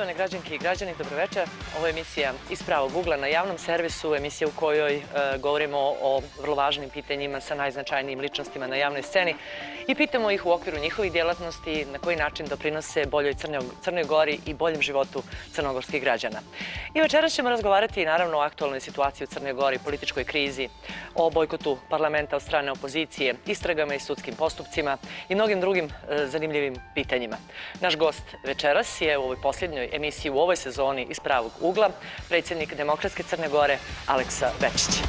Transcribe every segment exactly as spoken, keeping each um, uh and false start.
Poštovane građanke i građani, dobroveče. Ovo je emisija Iz pravog ugla na javnom servisu, emisija u kojoj e, govorimo o vrlo važnim pitanjima sa najznačajnijim ličnostima na javnoj sceni i pitamo ih u okviru njihovih djelatnosti na koji način doprinose boljoj Crnoj, Crnoj Gori i boljem životu crnogorskih građana. I večeras ćemo razgovarati naravno o aktualnoj situaciji u Crnoj Gori, političkoj krizi, o bojkotu parlamenta od strane opozicije, istragama i sudskim postupcima i mnogim drugim e, zanimljivim pitanjima. Naš gost večeras je u ovoj posljednjoj emisiji u ovoj sezoni Iz pravog ugla predsjednik Demokratske Crne Gore Aleksa Bečić.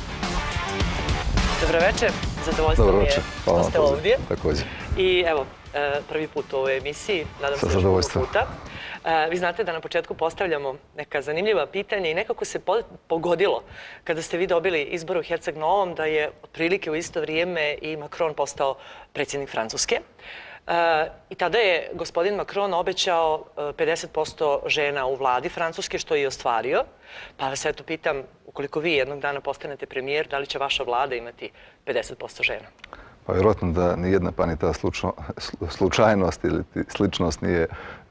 Dobroveče, zadovoljstvo mi je što ste ovdje. Također. I evo, prvi put u ovoj emisiji, nadam se još mnogo puta. Vi znate da na početku postavljamo neka zanimljiva pitanja i nekako se pogodilo kada ste vi dobili izbor u Herceg Novom da je otprilike u isto vrijeme i Macron postao predsjednik Francuske. I tada je gospodin Macron obećao pedeset posto žena u vladi Francuske, što je i ostvario. Pa vas eto pitam, ukoliko vi jednog dana postanete premijer, da li će vaša vlada imati pedeset posto žena? Pa vjerojatno da nijedna pa ni ta slučajnost ili sličnost nije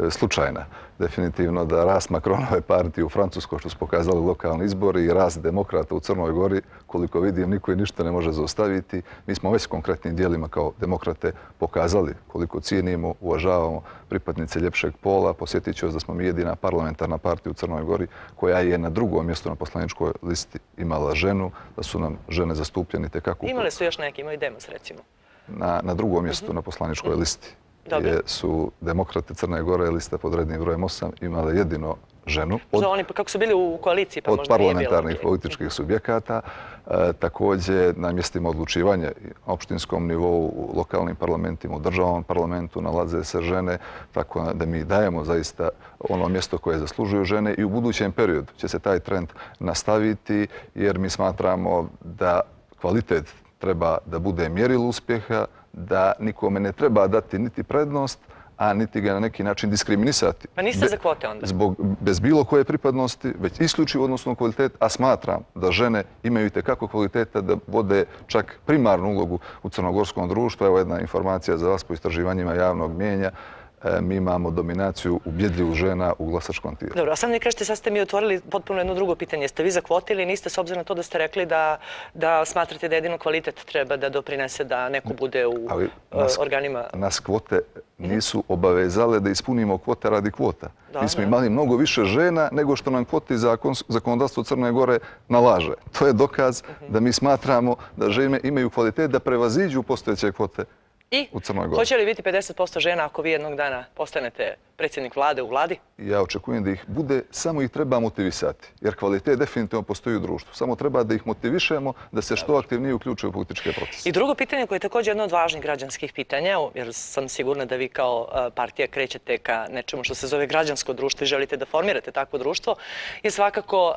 slučajna. Definitivno da rast Macronove partije u Francuskoj, što su pokazali lokalni izbori, i rast demokrata u Crnoj Gori, koliko vidim, niko i ništa ne može zaustaviti. Mi smo već konkretnim dijelima kao demokrate pokazali koliko cijenimo, uvažavamo pripadnice ljepšeg pola. Posjetit ću vas da smo mi jedina parlamentarna partija u Crnoj Gori koja je na drugom mjestu na poslaničkoj listi imala ženu, da su nam žene zastupljene tekako. Imali su još neki, imaju Demos recimo. Na, na drugom mjestu uh-huh. na poslaničkoj uh-huh. listi. Gdje su demokrate Crne Gore, lista pod rednim brojem osam, imale jedino ženu. Od, oni, kako su bili u koaliciji, pa od možda nije bilo. Od parlamentarnih političkih subjekata. E, također na mjestima odlučivanja na opštinskom nivou, u lokalnim parlamentima, u državnom parlamentu nalaze se žene, tako da mi dajemo zaista ono mjesto koje zaslužuju žene i u budućem periodu će se taj trend nastaviti, jer mi smatramo da kvalitet treba da bude mjerilo uspjeha, da nikome ne treba dati niti prednost, a niti ga na neki način diskriminisati. Pa niste za kvote onda? Zbog, bez bilo koje pripadnosti, već isključivo odnosno kvalitet, a smatram da žene imaju itekako kvaliteta da vode čak primarnu ulogu u crnogorskom društvu. Evo jedna informacija za vas po istraživanjima javnog mijenja. Mi imamo dominaciju ubjedljivu žena u glasačkom tijelu. Dobro, a sad mi kažete, sad ste mi otvorili potpuno jedno drugo pitanje. Ste vi za kvote ili niste, s obzirom na to da ste rekli da, da smatrate da jedino kvalitet treba da doprinese da neko bude u Ali nas, organima? Nas kvote nisu obavezale da ispunimo kvote radi kvota. Da, mi smo imali mnogo više žena nego što nam kvoti zakon, zakonodavstvo Crne Gore nalaže. To je dokaz uh-huh. da mi smatramo da žene imaju kvalitet da prevaziđu postojeće kvote. I hoće li biti pedeset posto žena ako vi jednog dana postanete predsjednik vlade u vladi? Ja očekujem da ih bude, samo ih treba motivisati. Jer kvalitet definitivno postoji u društvu. Samo treba da ih motivišemo da se što aktivnije uključuju u političke procese. I drugo pitanje koje je također jedno od važnih građanskih pitanja, jer sam sigurna da vi kao partija krećete ka nečemu što se zove građansko društvo i želite da formirate takvo društvo, je svakako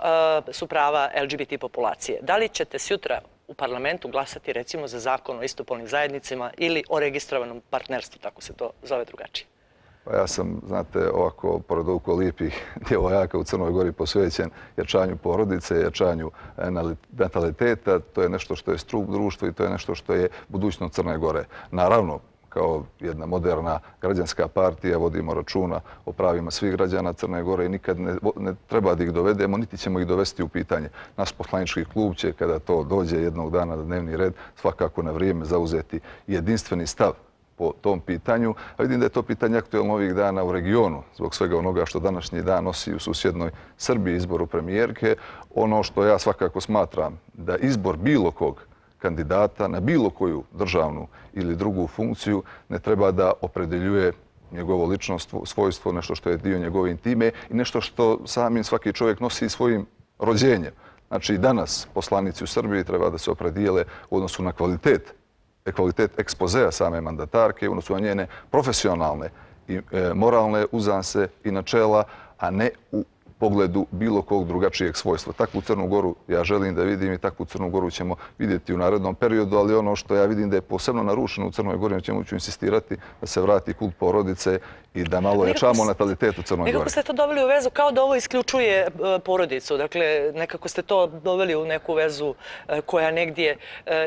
su prava L G B T populacije. Da li ćete sutra u parlamentu glasati recimo za zakon o istopolnim zajednicama ili o registrovanom partnerstvu, tako se to zove drugačije? Pa ja sam, znate, ovako, pored ovako lijepih djevojaka u Crnoj Gori posvećen jačanju porodice, jačanju nataliteta. To je nešto što je stup društva i to je nešto što je budućnost Crne Gore. Naravno, kao jedna moderna građanska partija vodimo računa o pravima svih građana Crne Gore i nikad ne, ne treba da ih dovedemo, niti ćemo ih dovesti u pitanje. Naš poslanički klub će, kada to dođe jednog dana na dnevni red, svakako na vrijeme zauzeti jedinstveni stav po tom pitanju. A vidim da je to pitanje aktuelno ovih dana u regionu, zbog svega onoga što današnji dan nosi u susjednoj Srbiji izboru premijerke. Ono što ja svakako smatram da izbor bilo kog kandidata na bilo koju državnu ili drugu funkciju ne treba da opredeljuje njegovo ličnost, svojstvo, nešto što je dio njegove intime i nešto što samim svaki čovjek nosi svojim rođenjem. Znači i danas poslanici u Srbiji treba da se opredijele u odnosu na kvalitet, kvalitet ekspozea same mandatarke, u odnosu na njene profesionalne i e, moralne uzanse i načela, a ne u pogledu bilo kog drugačijeg svojstva. Takvu Crnu Goru ja želim da vidim i takvu Crnu Goru ćemo vidjeti u narednom periodu, ali ono što ja vidim da je posebno narušeno u Crnoj Gori, na čemu ću insistirati da se vrati kult porodice i da malo jačamo natalitet u Crnoj Gori. Nekako ste to doveli u vezu kao da ovo isključuje porodicu. Dakle, nekako ste to doveli u neku vezu koja negdje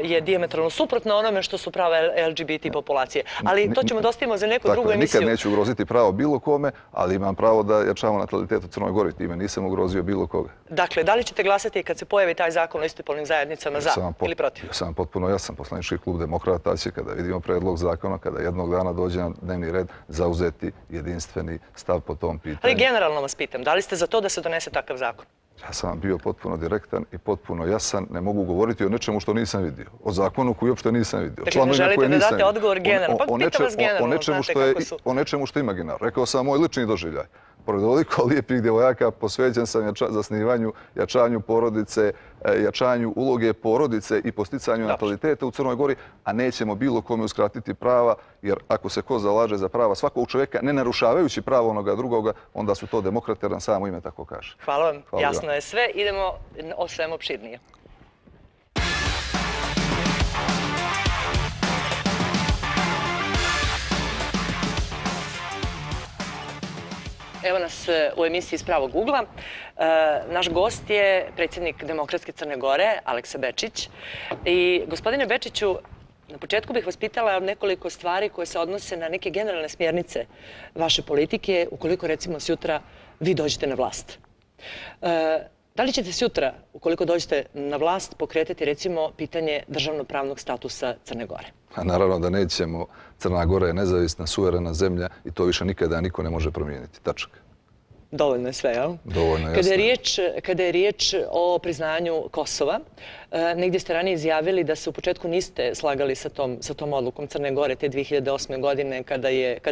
je dijametralno suprotna onome što su prava L G B T populacije. Ali to ćemo da ostavimo za neku drugu emisiju. Nikad neću ugroziti pravo bilo kome, ali imam pravo da jačamo natalitet u Crnoj Gori. Time nisam ugrozio bilo koga. Dakle, da li ćete glasati kad se pojavi taj zakon o istopolnim zajednicama za ili protiv? Ja sam potpuno jasan. Poslanički klub Demokrata će, kada vidimo predlog zakona, kada jednog dana dođe na dnevni red, zauzeti jedinstveni stav po tom pitanju. Ali generalno vas pitam, da li ste za to da se donese takav zakon? Ja sam bio potpuno direktan i potpuno jasan. Ne mogu govoriti o nečemu što nisam vidio. O zakonu koji uopšte nisam vidio. Dakle, ne želite da date odgovor generalno? Pa pitam vas generalno, znate kako su. O nečemu što je imaginarno. Rekao sam moj lični doživljaj. Pored ovoliko lijepih djevojaka posvećen sam zasnivanju, jačanju porodice, jačanju uloge porodice i posticanju nataliteta u Crnoj Gori, a nećemo bilo kome uskratiti prava, jer ako se ko zalaže za prava svakog čovjeka, ne narušavajući pravo onoga drugoga, onda su to demokrate, jer nam samo ime tako kaže. Hvala vam, jasno je sve. Idemo o svemu opširnije. Evo nas u emisiji iz pravog ugla. Naš gost je predsjednik Demokratske Crne Gore, Aleksa Bečić. I gospodine Bečiću, na početku bih vas pitala nekoliko stvari koje se odnose na neke generalne smjernice vaše politike, ukoliko recimo sutra vi dođete na vlast. Da li ćete sutra, ukoliko dođete na vlast, pokretati recimo pitanje državnopravnog statusa Crne Gore? Naravno da nećemo. Crna Gora je nezavisna, suverena zemlja i to više nikada niko ne može promijeniti. Tačka. Dovoljno je sve, jel? Dovoljno je. Kada je riječ o priznanju Kosova, negdje ste ranije izjavili da se u početku niste slagali sa tom odlukom Crne Gore te dvije hiljade osme. godine kada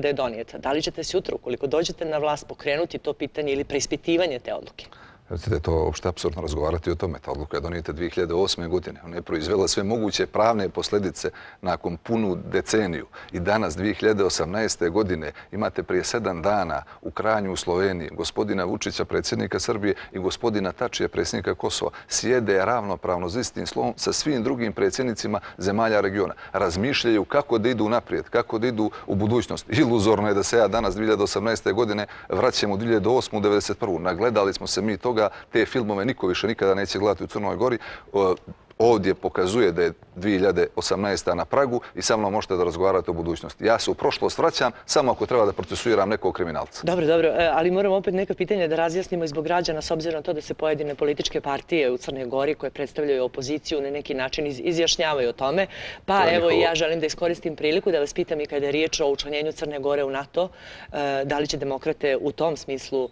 je donijeta. Da li ćete sutra, ukoliko dođete na vlast, pokrenuti to pitanje ili preispitivanje te odluke? Recite, to je uopšte apsurdno razgovarati o tome. Ta odluka je donijeta dvije hiljade osme. godine. Ona je proizvela sve moguće pravne posljedice nakon punu deceniju. I danas, dvije hiljade osamnaeste. godine, imate prije sedam dana u Kranju u Sloveniji gospodina Vučića, predsjednika Srbije, i gospodina Tačija, predsjednika Kosova, sjede ravnopravno za istim slovom sa svim drugim predsjednicima zemalja regiona. Razmišljaju kako da idu naprijed, kako da idu u budućnost. Iluzorno je da se ja danas, dvije hiljade osamnaeste. godine, vraćam u dvije hiljade osmu. devedeset prvu. Nagledali smo se mi toga. Te filmove niko više nikada neće gledati u Crnoj Gori. Ovdje pokazuje da je dvije hiljade osamnaesta. na pragu i sa mnom možete da razgovarate o budućnosti. Ja se u prošlost vraćam samo ako treba da procesuiram nekog kriminalca. Dobro, dobro, ali moramo opet neka pitanja da razjasnimo i zbog građana, s obzirom na to da se pojedine političke partije u Crnoj Gori koje predstavljaju opoziciju na neki način izjašnjavaju o tome. Pa evo i ja želim da iskoristim priliku da vas pitam i kada je riječ o učlanjenju Crne Gore u NATO, da li će demokrate u tom smislu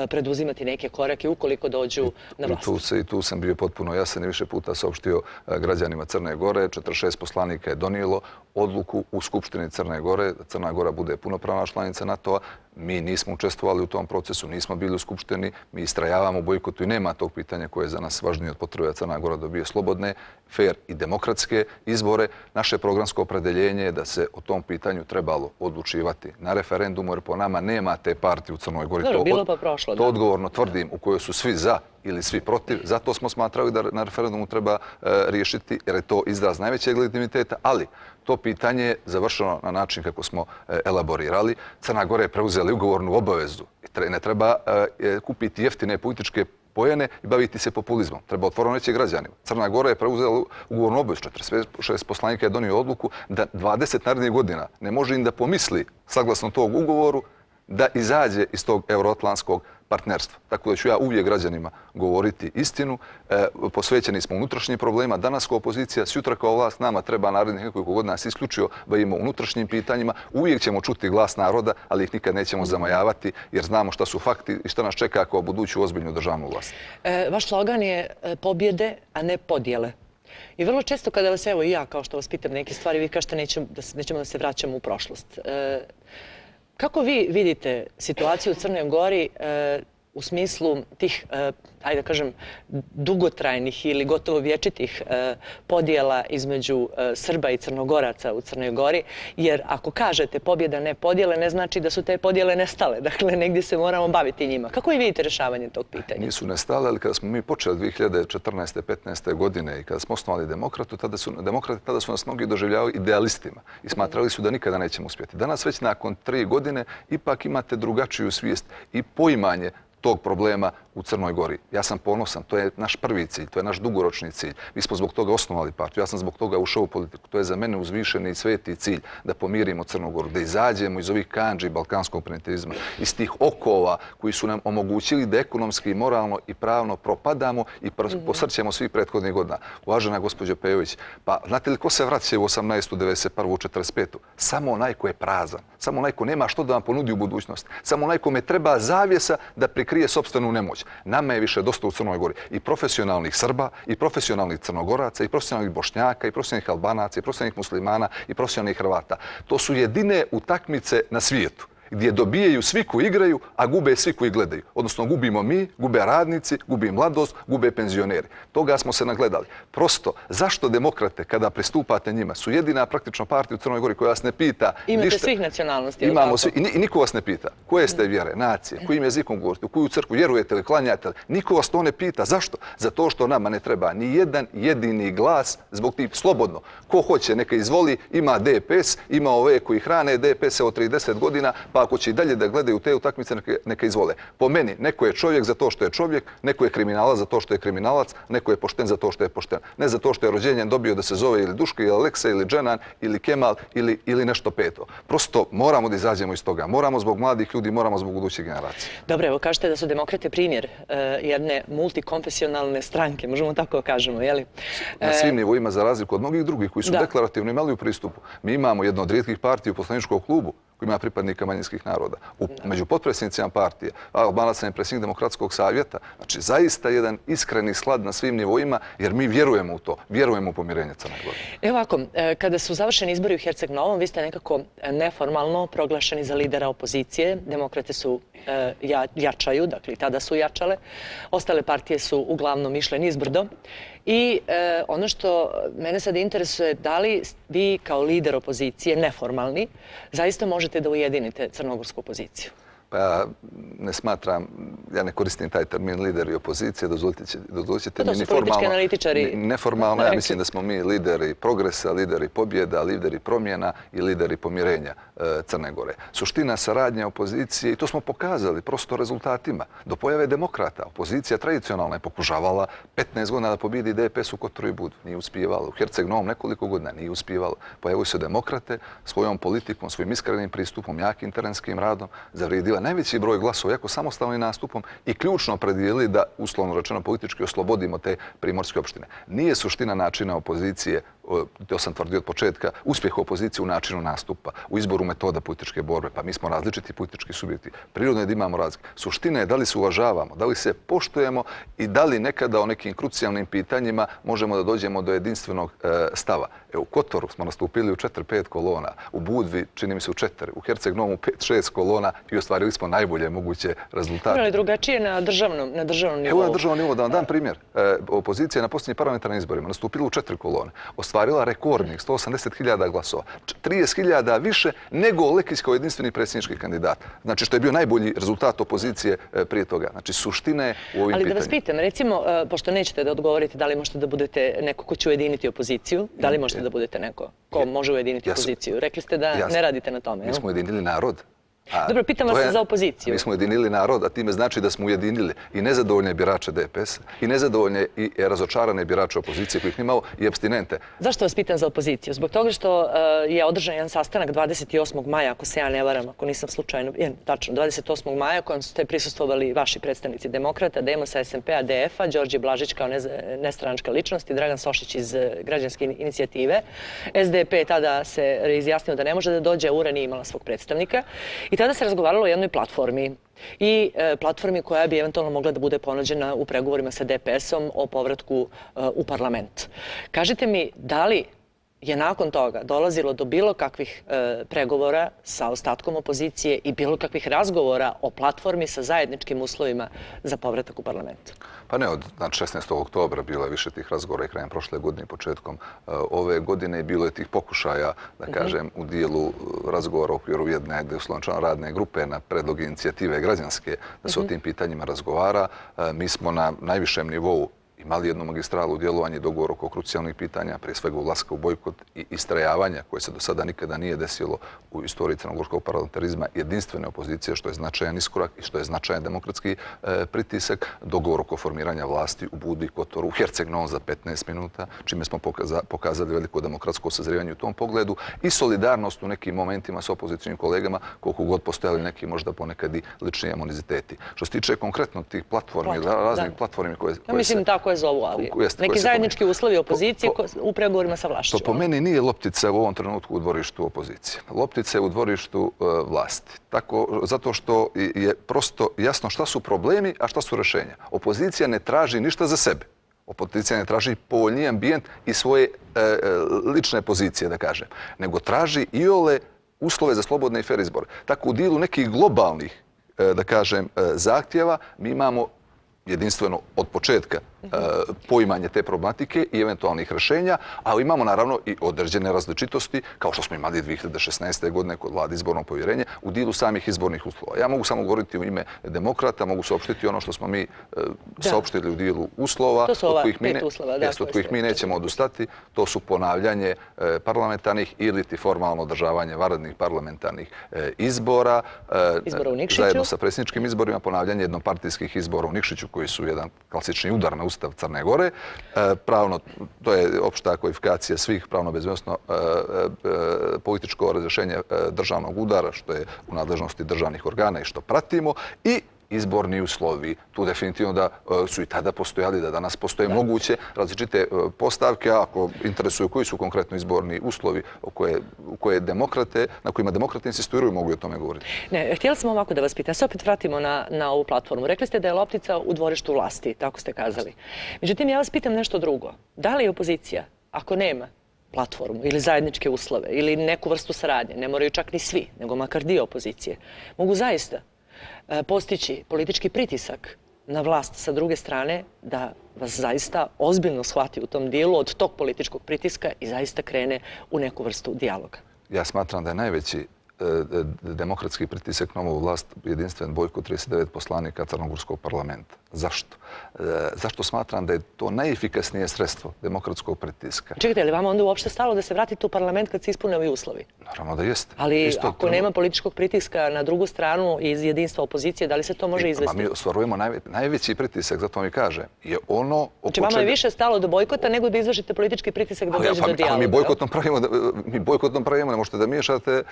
preduzimati neke korake ukoliko dođu na vlast? I tu sam bio potpuno jasan i više puta saopštio građanima Crne Gore. četrdeset šest poslanika je donijelo odluku u Skupštini Crne Gore da Crna Gora bude punopravna članica NATO-a. Mi nismo učestvovali u tom procesu, nismo bili u Skupštini, mi istrajavamo u bojkotu i nema tog pitanja koje je za nas važnije od potrebe da Crna Gora dobije slobodne, fair i demokratske izbore. Naše programsko opredeljenje je da se o tom pitanju trebalo odlučivati na referendumu, jer po nama nema te partije u Crnoj Gori. Dobro, bilo pa prošlo. To odgovorno tvrdim, u kojoj su svi za ili svi protiv. Zato smo smatrali da na referendumu treba riješiti, jer je to izraz najvećeg legitimiteta, ali to pitanje je završeno na način kako smo elaborirali. Crna Gora je preuzela ugovornu obavezu. Ne treba kupiti jeftine političke pojene i baviti se populizmom. Treba otvoreno reći građanima. Crna Gora je preuzela ugovornu obavezu. četrdeset šest poslanika je donio odluku da dvadeset narednih godina ne može im da pomisli, saglasno tog ugovoru, da izađe iz tog euroatlantskog partnerstva. Tako da ću ja uvijek građanima govoriti istinu. Posvećeni smo unutrašnjim problema. Danas kao opozicija, sutra kao vlast, nama treba narednih nekoliko godina nas isključio bavimo unutrašnjim pitanjima. Uvijek ćemo čuti glas naroda, ali ih nikad nećemo zamajavati, jer znamo šta su fakti i šta nas čeka kao buduću ozbiljnu državnu vlast. Vaš slogan je pobjede, a ne podjele. I vrlo često kada vas, evo i ja, kao što vas pitam neke stvari, vi kažete nećemo da se vraćamo u prošlost. Kako vi vidite situaciju u Crnoj Gori u smislu tih, ajde da kažem, dugotrajnih ili gotovo vječitih podjela između Srba i Crnogoraca u Crnoj Gori, jer ako kažete pobjeda ne podjele, ne znači da su te podjele nestale. Dakle, negdje se moramo baviti njima. Kako i vidite rješavanje tog pitanja? Nisu nestale, ali kada smo mi počeli dvije hiljade četrnaeste. petnaeste. godine i kada smo osnovali demokratu, tada su, demokrati tada su nas mnogi doživljavali idealistima i smatrali su da nikada nećemo uspjeti. Danas već nakon tri godine ipak imate drugačiju svijest i poimanje tog problema u Crnoj Gori. Ja sam ponosan, to je naš prvi cilj, to je naš dugoročni cilj. Mi smo zbog toga osnovali partiju, ja sam zbog toga ušao u politiku. To je za mene uzvišeni i sveti cilj da pomirimo Crnu Goru, da izađemo iz ovih kandži balkanskog primitivizma, iz tih okova koji su nam omogućili da ekonomski, moralno i pravno propadamo i posrćemo svih prethodnih godina. Uvažena gospođo Pejović, pa znate li ko se vraća u osamnaestu, devedeset prvu, četrdeset petu? Samo onaj ko je prazan, samo onaj ko nema što da vam ponudi u budućnosti, samo onaj kome treba zavjesa da prikrije sopstvenu nemoć. Nama je više dosta u Crnoj Gori i profesionalnih Srba, i profesionalnih Crnogoraca, i profesionalnih Bošnjaka, i profesionalnih Albanaca, i profesionalnih Muslimana, i profesionalnih Hrvata. To su jedine utakmice na svijetu gdje dobijaju svi koji igraju, a gube svi koji gledaju. Odnosno, gubimo mi, gube radnici, gubi mladost, gube penzioneri. Toga smo se nagledali. Prosto, zašto demokrate, kada pristupate njima, su jedina praktično partija u Crnoj Gori koja vas ne pita... Imate svih nacionalnosti. Imamo svi. I niko vas ne pita. Koje ste vjere, nacije, kojim jezikom govorite, u koju crkvu vjerujete ili klanjate li. Niko vas to ne pita. Zašto? Zato što nama ne treba ni jedan jedini glas zbog tih slobodno. Ko hoće, neka izvoli, ima D P S, ima ove koji hrane D P S od trideset godina, pa ako će i dalje da gledaju te utakmice, neka izvole. Po meni, neko je čovjek za to što je čovjek, neko je kriminalac za to što je kriminalac, neko je pošten za to što je pošten. Ne za to što je rođenjem dobio da se zove ili Duško, ili Aleksa, ili Dženan, ili Kemal, ili, ili nešto peto. Prosto moramo da izađemo iz toga. Moramo zbog mladih ljudi, moramo zbog budućih generacija. Dobro, evo kažete da su demokrate primjer uh, jedne multikonfesionalne stranke, možemo tako kažemo, je li? Na svim nivoima, za razliku od mnogih drugih koji su da. deklarativno imali u pristupu. Mi imamo jedno od rijetkih partija u poslaničkom klubu koji ima pripadnika manjinskih naroda. U, među potpredsjednicima partije, Albanaca je predsjednik Demokratskog savjeta. Znači, zaista jedan iskreni slad na svim nivoima, jer mi vjerujemo u to, vjerujemo u pomirenje Crne Gore. Evo ovako, kada su završeni izbori u Herceg Novom, vi ste nekako neformalno proglašeni za lidera opozicije. Demokrate su ja, jačaju, dakle i tada su jačale. Ostale partije su uglavnom išle nizbrdo. I e, ono što mene sad interesuje, da li vi kao lider opozicije, neformalni, zaista možete da ujedinite crnogorsku opoziciju? Pa ja ne smatram, ja ne koristim taj termin lideri opozicije, dozvolite mi neformalno. Neformalno, ja mislim da smo mi lideri progresa, lideri pobjeda, lideri promjena i lideri pomirenja Crne Gore. Suština saradnje opozicije, i to smo pokazali prosto rezultatima, do pojave demokrata. Opozicija tradicionalna je pokušavala petnaest godina da pobjedi D P S u Kotoru i Budu. Nije uspijevalo. U Herceg Novom nekoliko godina nije uspijevalo. Pojavili su demokrate svojom politikom, svojim iskrenim pristupom, jakim terenskim radom, zavrijedila najveći broj glasova, jako samostalnim nastupom i ključno predijeli da, uslovno rečeno, politički oslobodimo te primorske opštine. Nije suština načina opozicije, to sam tvrdio od početka, uspjeh opozicije u načinu nastupa, u izboru metoda političke borbe. Pa mi smo različiti politički subjekti. Prirodno je da imamo razlike. Suština je da li se uvažavamo, da li se poštujemo i da li nekada o nekim krucijalnim pitanjima možemo da dođemo do jedinstvenog e, stava. E, u Kotoru smo nastupili u četiri pet kolona, u Budvi čini mi se u četiri, u Herceg Novom u pet šest kolona i ostvarili smo najbolje moguće rezultate. Ali drugačije na državnom, na državnom nivou. Evo na državnom nivou, da vam dam primjer. E, opozicija je na posljednjim parlamentarnim izborima nastupila u četiri kolone. Ostvarila rekordnih sto osamdeset hiljada glasova. trideset hiljada više nego Lekić kao jedinstveni predsjednički kandidat. Znači što je bio najbolji rezultat opozicije prije toga. Znači suština je u ovim pitanjima. Ali da vas pitam, recimo, pošto nećete da odgovorite da li možete da budete neko ko će ujediniti opoziciju, da li možete da budete neko ko može ujediniti opoziciju? Rekli ste da ne radite na tome. Mi smo ujedinili narod. Dobro, pitam vas za opoziciju. Mi smo ujedinili narod, a time znači da smo ujedinili i nezadovoljne birače D P S, i nezadovoljne i razočarane birače opozicije kojih nimao i apstinente. Zašto vas pitam za opoziciju? Zbog toga što je održan jedan sastanak dvadeset osmog maja, ako se ja ne varam, ako nisam slučajno, je, tačno, dvadeset osmog maja, kojem ste prisustvovali vaši predstavnici demokrata, Demosa, S M P-a, D F-a, Đorđe Blažić kao nestranačka ličnost i Dragan Sošić iz Građanske inicijative. S D P tada se izjasnio da ne može da dođe, a U R A nije imala svog predstavnika. I tada se razgovaralo o jednoj platformi i e, platformi koja bi eventualno mogla da bude ponuđena u pregovorima sa D P S-om o povratku e, u parlament. Kažite mi, da li je nakon toga dolazilo do bilo kakvih e, pregovora sa ostatkom opozicije i bilo kakvih razgovora o platformi sa zajedničkim uslovima za povratak u parlamentu? Pa ne, od znači, šesnaestog oktobra bilo je više tih razgovora i krajem prošle godine i početkom uh, ove godine. Bilo je tih pokušaja, da kažem, u dijelu razgovora u okviru jedne uslovno radne grupe na predlog inicijative građanske da se o tim pitanjima razgovara. Uh, mi smo na najvišem nivou imali jednu magistralu djelovanja i dogovor oko krucijalnih pitanja, prije svega ulaska u bojkot i istrajavanja koje se do sada nikada nije desilo u istoriji crnogorskog parlamentarizma, jedinstvene opozicije, što je značajan iskorak i što je značajan demokratski e, pritisak, dogovor oko formiranja vlasti u Budi, Kotoru, u Herceg-Novom za petnaest minuta, čime smo pokaza, pokazali veliko demokratsko sazrijevanje u tom pogledu i solidarnost u nekim momentima s opozicijnim kolegama, koliko god postojali neki možda ponekad i lični amoniziteti. Što se tiče konkretno tih platformi, Platform, raznih da. platformi koje, koje ja mislim se... tako je zovu, ali Jeste, neki zajednički uslovi opozicije po, po, u pregovorima sa vlašću. To po meni nije loptica u ovom trenutku u dvorištu opozicije. Loptica je u dvorištu uh, vlasti. Tako, zato što je prosto jasno šta su problemi, a šta su rješenja. Opozicija ne traži ništa za sebe. Opozicija ne traži povoljniji ambijent i svoje uh, lične pozicije, da kažem. Nego traži i ole uslove za slobodne i fer izbore. Tako u dilu nekih globalnih, uh, da kažem, uh, zahtjeva mi imamo jedinstveno od početka uh, poimanje te problematike i eventualnih rješenja, ali imamo naravno i određene različitosti, kao što smo imali dvije hiljade šesnaeste. godine kod vlade izborno povjerenje, u dilu samih izbornih uslova. Ja mogu samo govoriti u ime demokrata, mogu saopštiti ono što smo mi uh, saopštili u dilu uslova, to su ova od kojih mi, ne, uslova, da, jest, od kojih mi nećemo odustati. To su ponavljanje uh, parlamentarnih ili ti formalno održavanje vanrednih parlamentarnih uh, izbora, uh, izbora u Nikšiću, zajedno sa predsjedničkim izborima, ponavljanje jednopartijskih izbora u Nikšiću, koji su jedan klasični udar na Ustav Crne Gore. E, pravno, to je opšta kvalifikacija svih pravno bezbednosno e, e, političko razrješenje e, državnog udara, što je u nadležnosti državnih organa i što pratimo, i izborni uslovi. Tu definitivno da uh, su i tada postojali, da danas postoje da. moguće različite uh, postavke, ako interesuju koji su konkretno izborni uslovi u koje, u koje demokrate, na kojima demokrate insistiraju, mogu i o tome govoriti. Ne, htjeli smo ovako da vas pitam. Se opet vratimo na, na ovu platformu. Rekli ste da je loptica u dvorištu vlasti, tako ste kazali. Međutim, ja vas pitam nešto drugo. Da li je opozicija, ako nema platformu ili zajedničke uslove ili neku vrstu saradnje, ne moraju čak ni svi, nego makar dio opozicije, mogu zaista postići politički pritisak na vlast sa druge strane da vas zaista ozbiljno shvati u tom dijelu od tog političkog pritiska i zaista krene u neku vrstu dijaloga? Ja smatram da je najveći demokratski pritisak na ovu vlast jedinstven bojkot trideset devet poslanika Crnogorskog parlamenta. Zašto? Zašto smatram da je to najefikasnije sredstvo demokratskog pritiska? Čekajte, je li vama onda uopšte stalo da se vratite u parlament kad se ispune ovi uslovi? Naravno da jeste. Ali Isto ako nema političkog pritiska na drugu stranu iz jedinstva opozicije, da li se to može izvesti? Mi ostvarujemo najve, najveći pritisak, zato mi kaže, je ono oko znači, vama je više stalo do bojkota nego da izvršite politički pritisak da dođe pa, do dijaloga. Ali mi bojkotnom pravimo, mi bojkotnom pravimo, ne možete da miješate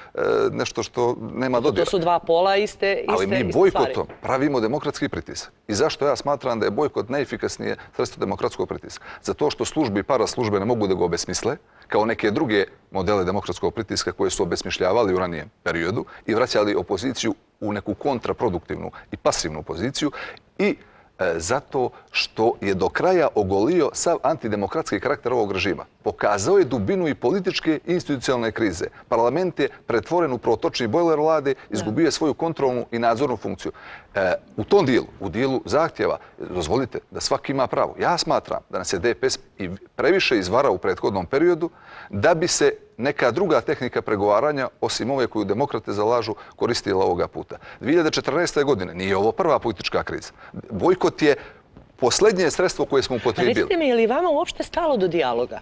nešto što nema dodira. To su dva pola iste, iste, ali mi bojkotom pravimo demokratski pritisak. I zašto ja smatram da je bojkot najefikasnije sredstvo demokratskog pritiska? Zato što službe i paraslužbe ne mogu da ga obesmisle, kao neke druge modele demokratskog pritiska koje su obesmišljavali u ranijem periodu i vraćali opoziciju u neku kontraproduktivnu i pasivnu poziciju i e, zato što je do kraja ogolio sav antidemokratski karakter ovog režima. Pokazao je dubinu i političke i institucionalne krize. Parlament je pretvoren u protočni bojler vlade, izgubio je svoju kontrolnu i nadzornu funkciju. E, u tom dijelu, u dijelu zahtjeva, dozvolite da svaki ima pravo. Ja smatram da nas je D P S i previše izvarao u prethodnom periodu da bi se neka druga tehnika pregovaranja, osim ove koju demokrate zalažu, koristila ovoga puta. dvije hiljade četrnaeste. godine nije ovo prva politička kriza. Bojkot je posljednje sredstvo koje smo upotrijebili. Recite mi, je li vama uopšte stalo do dijaloga?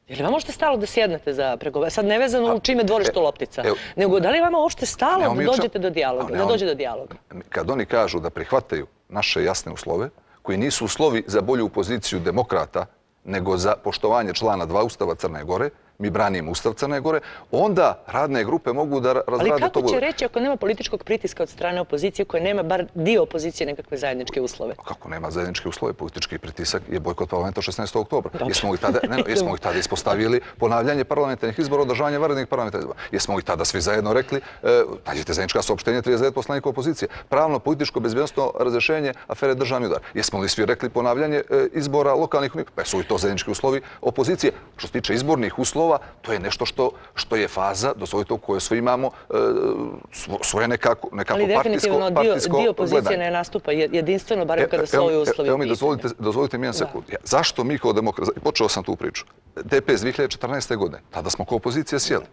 Je li vama uopšte stalo da sjednete za pregovore? Sad nevezano u čime dvorište loptica, nego da li vama uopšte stalo da dođete do dijaloga, da dođe do dijaloga? Kad oni kažu da prihvataju naše jasne uslove, koji nisu uslovi za bolju poziciju demokrata, nego za poštovanje člana dva Ustava Crne Gore, mi branimo Ustav Crne Gore, onda radne grupe mogu da razrade to. Ali kako će reći ako nema političkog pritiska od strane opozicije koje nema bar dio opozicije nekakve zajedničke uslove? Kako nema zajedničke uslove? Politički pritisak je bojkot parlamenta šesnaestog oktobra. Jesmo ih tada, ne, jesmo ih tada ispostavili ponavljanje parlamentarnih izbora, održavanje vanrednih parlamentarnih izbora. Jesmo ih tada svi zajedno rekli, e, nađite zajednička saopštenja trideset devet poslanika opozicije. Pravno, političko, bezbednosno razrešenje afere državni udar. Jesmo li svi rekli ponavljanje e, izbora lokalnih unija? Pa su i to zajednički uslovi opozicije. Što se tiče izbornih uslova, nula, to je nešto što je faza, dozvolite, u kojoj svi imamo svoje nekako partijsko gledanje. Ali definitivno dio opozicije ne nastupa jedinstveno, barem kada su ovi uslovi u pitanju. Dozvolite mi jedan sekund. Zašto mi kao demokrati, počeo sam tu priču, D P S dvije hiljade četrnaeste. godine, tada smo kao opozicija sjeli.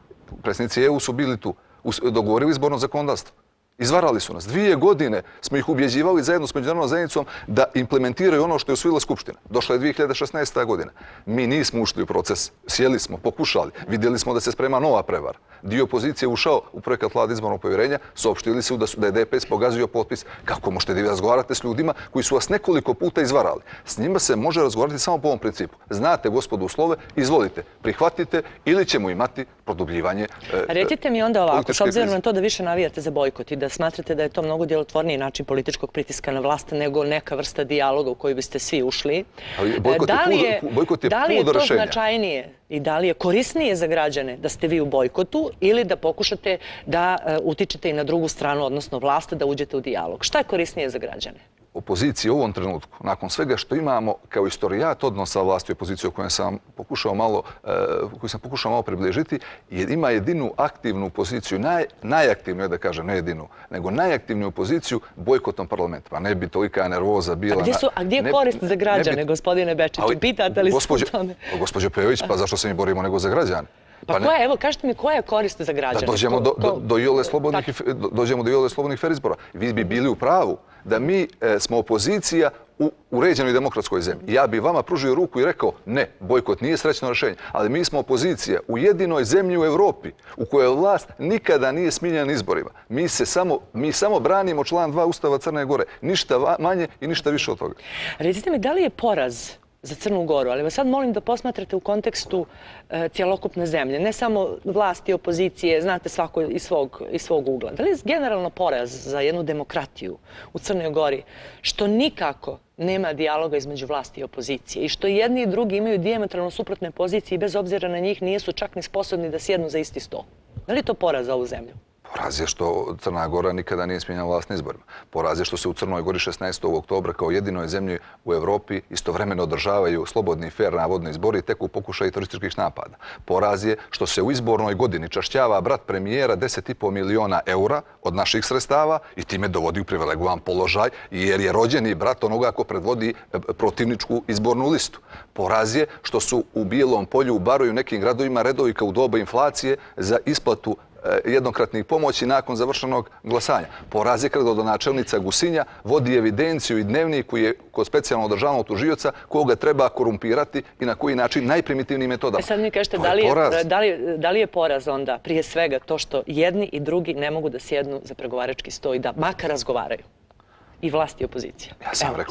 Predsjednici E U su bili tu, dogovorili izborno zakonodavstvo. Izvarali su nas. Dvije godine smo ih ubjeđivali zajedno s međunarodnom zajednicom da implementiraju ono što je usvojila Skupština. Došla je dvije hiljade šesnaesta. godina. Mi nismo ušli u proces. Sjeli smo, pokušali. Vidjeli smo da se sprema nova prevara. Dio opozicije je ušao u projekat Vlade izbornog povjerenja, saopštili su da je D P S pogazio potpis. Kako možete da vi razgovarate s ljudima koji su vas nekoliko puta izvarali? S njima se može razgovarati samo po ovom principu. Znate, gospodu, uslove, izvolite, prihvatite ili ćemo imati produbljivanje. Recite mi onda ovako, s obzirom na to da više navijate za bojkot i da smatrate da je to mnogo djelotvorniji način političkog pritiska na vlast nego neka vrsta dijaloga u koji biste svi ušli. Da li je to značajnije i da li je korisnije za građane da ste vi u bojkotu ili da pokušate da utičete i na drugu stranu, odnosno vlast, da uđete u dijalog? Šta je korisnije za građane? Opozicija u ovom trenutku, nakon svega što imamo kao istorijat odnosa vlasti i opozicije o kojem sam pokušao malo, koju sam pokušao malo približiti, ima jedinu aktivnu poziciju, najaktivniju, da kažem, ne jedinu, nego najaktivniju poziciju bojkotom parlamenta. Pa ne bi tolika nervoza bila... A gdje je korist za građane, gospodine Bečiću? Pitate li se o tome? Gospođo Pejović, pa zašto se mi borimo nego za građane? Pa koja, evo, kažete mi koja je korist za građane? Da dođemo do iole slobodnih fer izbora. Vi bi bili u pravu da mi smo opozicija u uređenoj demokratskoj zemlji. Ja bi vama pružio ruku i rekao ne, bojkot nije srećno rješenje, ali mi smo opozicija u jedinoj zemlji u Evropi u kojoj vlast nikada nije smijenjena izborima. Mi samo branimo član dva Ustava Crne Gore. Ništa manje i ništa više od toga. Recite mi, da li je poraz za Crnu Goru, ali vas sad molim da posmatrate u kontekstu cjelokupne zemlje, ne samo vlasti i opozicije, znate, svako iz svog ugla. Da li je generalno poraz za jednu demokratiju u Crnoj Gori što nikako nema dijaloga između vlasti i opozicije i što jedni i drugi imaju dijametralno suprotne pozicije i bez obzira na njih nisu čak ni sposobni da sjednu za isti sto? Da li je to poraz za ovu zemlju? Poraz je što Crna Gora nikada nije smijenjala vlast na izborima. Poraz je što se u Crnoj Gori šesnaestog oktobra kao jedinoj zemlji u Evropi istovremeno održavaju slobodni i fer navodni izbori tek u pokušaju terorističkih napada. Poraz je što se u izbornoj godini čašćava brat premijera deset i po miliona eura od naših sredstava i time dovodi u privilegovan položaj jer je rođeni brat onoga ko predvodi protivničku izbornu listu. Poraz je što su u Bijelom Polju, u Baru i u nekim gradovima redovi kao u doba inflacije za isplatu jednokratnih pomoći nakon završenog glasanja. Poraz je kada gradonačelnica Gusinja vodi evidenciju i dnevnik koji je kod specijalno održavnog tužioca koga treba korumpirati i na koji način najprimitivnijim metodama. E sad mi kažete, da li je poraz onda prije svega to što jedni i drugi ne mogu da sjednu za pregovarački sto i da makar razgovaraju? I vlast i opozicija.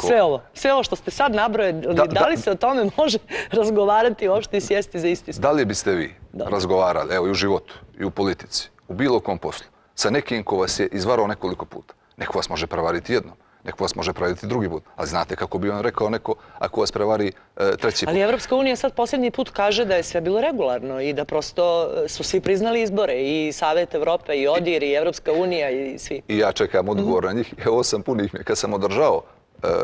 Sve ovo. Sve ovo što ste sad nabrojali, da li se o tome može razgovarati uopšte i sjesti za isti sto? Da li biste vi razgovarali, evo i u životu, i u politici, u bilo kom poslu, sa nekim ko vas je izvarao nekoliko puta? Neko vas može prevariti jednom, neko vas može prevariti drugi put. Ali znate kako bi on rekao neko ako vas prevari treći put. Ali Evropska unija sad posljednji put kaže da je sve bilo regularno i da prosto su svi priznali izbore i Savet Evrope i ODIR i Evropska unija i svi. I ja čekam odgovor na njih. Evo sam punih mi. Kad sam održao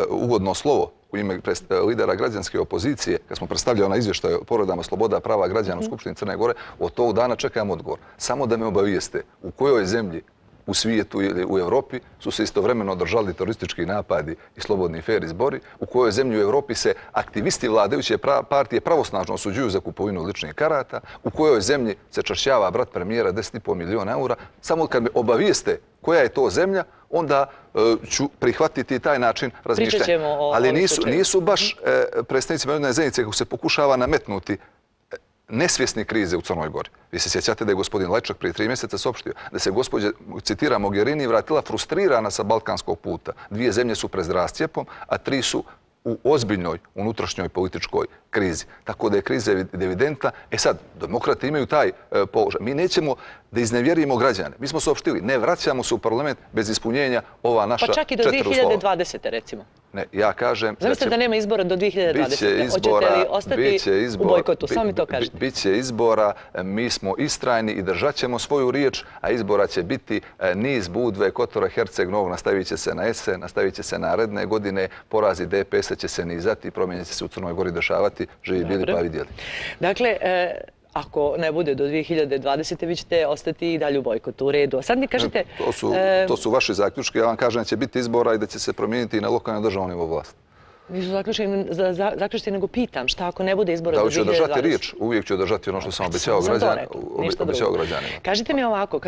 uvodno slovo u ime lidera građanske opozicije, kad smo predstavljali na izvještaj o povredama sloboda prava građana u Skupštini Crne Gore, od tog dana čekam odgovor. Samo da me obavijeste u kojoj zemlji u svijetu ili u Evropi su se istovremeno održali teroristički napadi i slobodni fer izbori, u kojoj zemlji u Evropi se aktivisti vladajuće partije pravosnažno osuđuju za kupovinu ličnih karata, u kojoj zemlji se čašćava brat premijera deset i po miliona eura. Samo kad me obavijeste koja je to zemlja, onda ću prihvatiti taj način razmišljanja. Ali nisu baš predstavnici međunarodne zajednice kako se pokušava nametnuti nesvjesni krize u Crnoj Gori. Vi se sjećate da je gospodin Lajčak prije tri mjeseca saopštio da se gospođa, citira, Mogherini vratila frustrirana sa balkanskog puta. Dvije zemlje su pred rascijepom, a tri su u ozbiljnoj unutrašnjoj političkoj krizi. Tako da je kriza evidentna. E sad, demokrati imaju taj položaj. Mi nećemo da iznevjerimo građane. Mi smo saopštili, ne vraćamo se u parlament bez ispunjenja ova naša četiri uslova. Pa čak i do dvije hiljade dvadesete recimo. Ne, ja kažem... Zamislite da nema izbora do dvije hiljade dvadesete. Hoćete li ostati u bojkotu? Samo mi to kažete. Biće izbora, mi smo istrajni i držat ćemo svoju riječ, a izbora će biti niz Budve, Kotora, Herceg Novog, nastavit će se na jesen, nastavit će se naredne godine, porazi D P S-a će se nizati, promjenje će se u Crnoj Gori dešavati, živi bili pa vidjeli. Dakle, ako ne bude do dvije hiljade dvadesete. vi ćete ostati i dalje u bojkotu. U redu. A sad mi kažete... To su, to su vaši zaključki. Ja vam kažem da će biti izbora i da će se promijeniti i na lokalnom državnom nivou vlasti. Nisu zaključiti, nego pitam šta ako ne bude izbora do dvije hiljade dvadesete. Da li ću održati riječ? Uvijek ću održati ono što sam obećao građanima. Kažite mi ovako,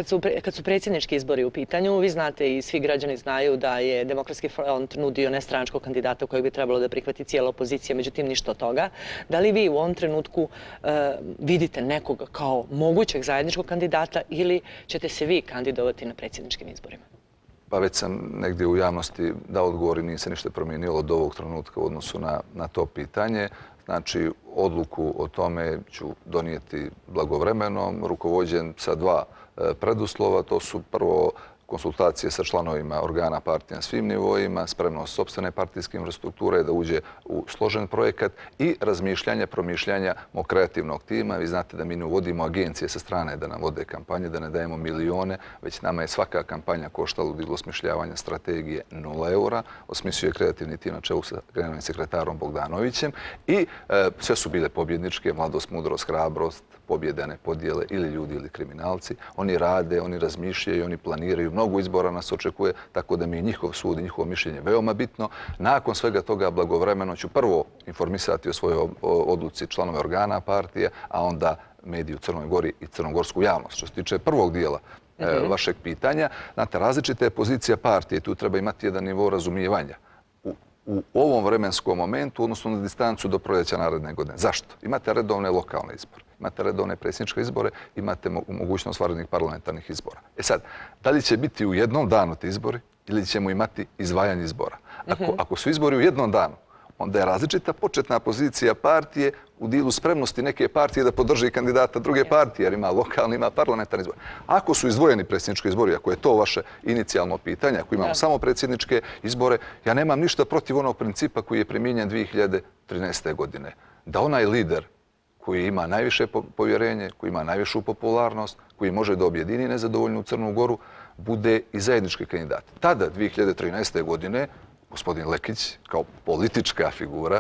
kad su predsjednički izbori u pitanju, vi znate i svi građani znaju da je Demokratski front nudio nestranačkog kandidata kojeg bi trebalo da prihvati cijela opozicija, međutim ništa od toga. Da li vi u ovom trenutku vidite nekoga kao mogućeg zajedničkog kandidata ili ćete se vi kandidovati na predsjedničkim izborima? Pa već sam negdje u javnosti dao odgovor i nije se ništa promijenilo od ovog trenutka u odnosu na, na to pitanje. Znači, odluku o tome ću donijeti blagovremeno, rukovođen sa dva e, preduslova. To su prvo konsultacije sa članovima organa partije na svim nivoima, spremnost sopstvene partijske infrastrukture da uđe u složen projekat i razmišljanja, promišljanja mog kreativnog tima. Vi znate da mi ne uvodimo agencije sa strane da nam vode kampanje, da ne dajemo milione, već nama je svaka kampanja koštala od osmišljavanja strategije nula eura. Osmislio je kreativni tim na čelu sa generalnim sekretarom Bogdanovićem i e, sve su bile pobjedničke, mladost, mudrost, hrabrost, pobjede, ne podjele ili ljudi ili kriminalci. Oni rade, oni razmišljaju, oni planiraju. Mnogo izbora nas očekuje, tako da mi je njihov sud i njihovo mišljenje veoma bitno. Nakon svega toga blagovremeno ću prvo informisati o svojoj odluci članove organa partije, a onda mediji u Crnoj Gori i crnogorsku javnost. Što se tiče prvog dijela e, vašeg pitanja, znate, različita je pozicija partije. Tu treba imati jedan nivo razumijevanja. U ovom vremenskom momentu, odnosno na distancu do proljeća naredne godine. Zašto? Imate redovne lokalne izbore, imate redovne predsjedničke izbore, imate mogućnost vanrednih parlamentarnih izbora. E sad, da li će biti u jednom danu ti izbori ili ćemo imati izdvajanje izbora? Ako, ako su izbori u jednom danu, onda je različita početna pozicija partije u dilu spremnosti neke partije da podrži kandidata druge partije, jer ima lokalni, ima parlamentarni izbor. Ako su izdvojeni predsjednički izbori, ako je to vaše inicijalno pitanje, ako imamo samo predsjedničke izbore, ja nemam ništa protiv onog principa koji je primijenjen dvije hiljade trinaeste. godine. Da onaj lider koji ima najviše povjerenje, koji ima najvišu popularnost, koji može da objedini nezadovoljnu Crnu Goru, bude i zajednički kandidat. Tada, dvije hiljade trinaeste. godine, gospodin Lekić, kao politička figura,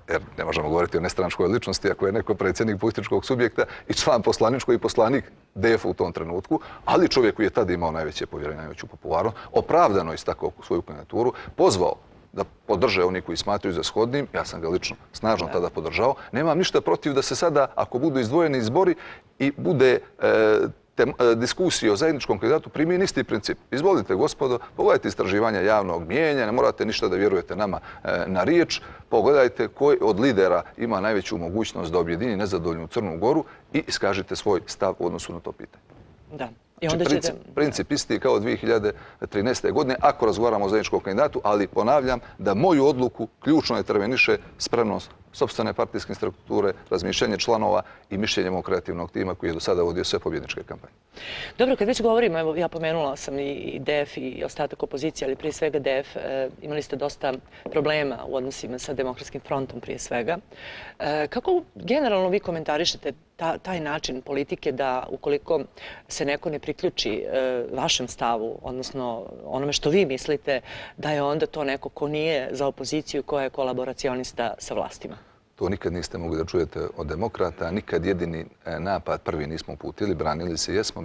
jer ne možemo govoriti o nestranačkoj ličnosti ako je neko predsjednik političkog subjekta i član poslaničkog i poslanik D F u tom trenutku, ali čovjek koji je tada imao najveće povjerenje, najveću popularnost, opravdano istakao svoju kandidaturu, pozvao da podrže oni koji smatraju za shodnim, ja sam ga lično snažno tada podržao, nemam ništa protiv da se sada, ako budu izdvojeni izbori i bude e, diskusije o zajedničkom kandidatu, primijeni isti princip. Izvolite, gospodo, pogledajte istraživanja javnog mijenja, ne morate ništa da vjerujete nama na riječ, pogledajte koji od lidera ima najveću mogućnost da objedini nezadovoljnu Crnu Goru i iskažite svoj stav u odnosu na to pitanje. Da. Znači, princip, princip isti kao dvije hiljade trinaeste. godine, ako razgovaramo o zajedničkom kandidatu, ali ponavljam da moju odluku ključno interveniše spremnost sopstvene partijske strukture, razmišljanje članova i mišljenje mog kreativnog tima koji je do sada vodio sve pobjedničke kampanje. Dobro, kad već govorimo, evo ja pomenula sam i D F i ostatak opozicije, ali prije svega D F, imali ste dosta problema u odnosima sa Demokratskim frontom prije svega. Kako generalno vi komentarišete taj način politike da ukoliko se neko ne priključi vašem stavu, odnosno onome što vi mislite, da je onda to neko ko nije za opoziciju, ko je kolaboracionista sa vlastima? To nikad niste mogli da čujete od demokrata, nikad jedini napad prvi nismo uputili, branili se jesmo,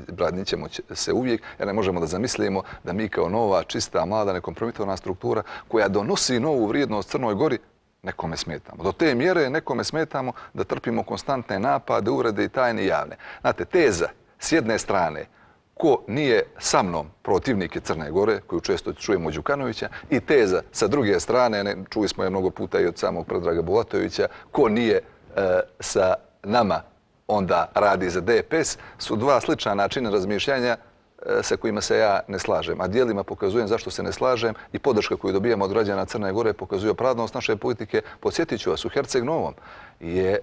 branit ćemo se uvijek, jer ne možemo da zamislimo da mi kao nova, čista, mlada, nekompromitovana struktura koja donosi novu vrijednost Crnoj Gori, nekome smetamo. Do te mjere nekome smetamo da trpimo konstantne napade, uvrede i tajne i javne. Znate, teza s jedne strane ko nije sa mnom protivnik je Crne Gore, koju često čujemo od Đukanovića, i teza sa druge strane, čuli smo je mnogo puta i od samog Predraga Bulatovića, ko nije e, sa nama onda radi za D P S, su dva slična načina razmišljanja e, sa kojima se ja ne slažem. A dijelima pokazujem zašto se ne slažem i podrška koju dobijamo od građana Crne Gore pokazuje opravdanost naše politike. Podsjetit ću vas, u Herceg Novom je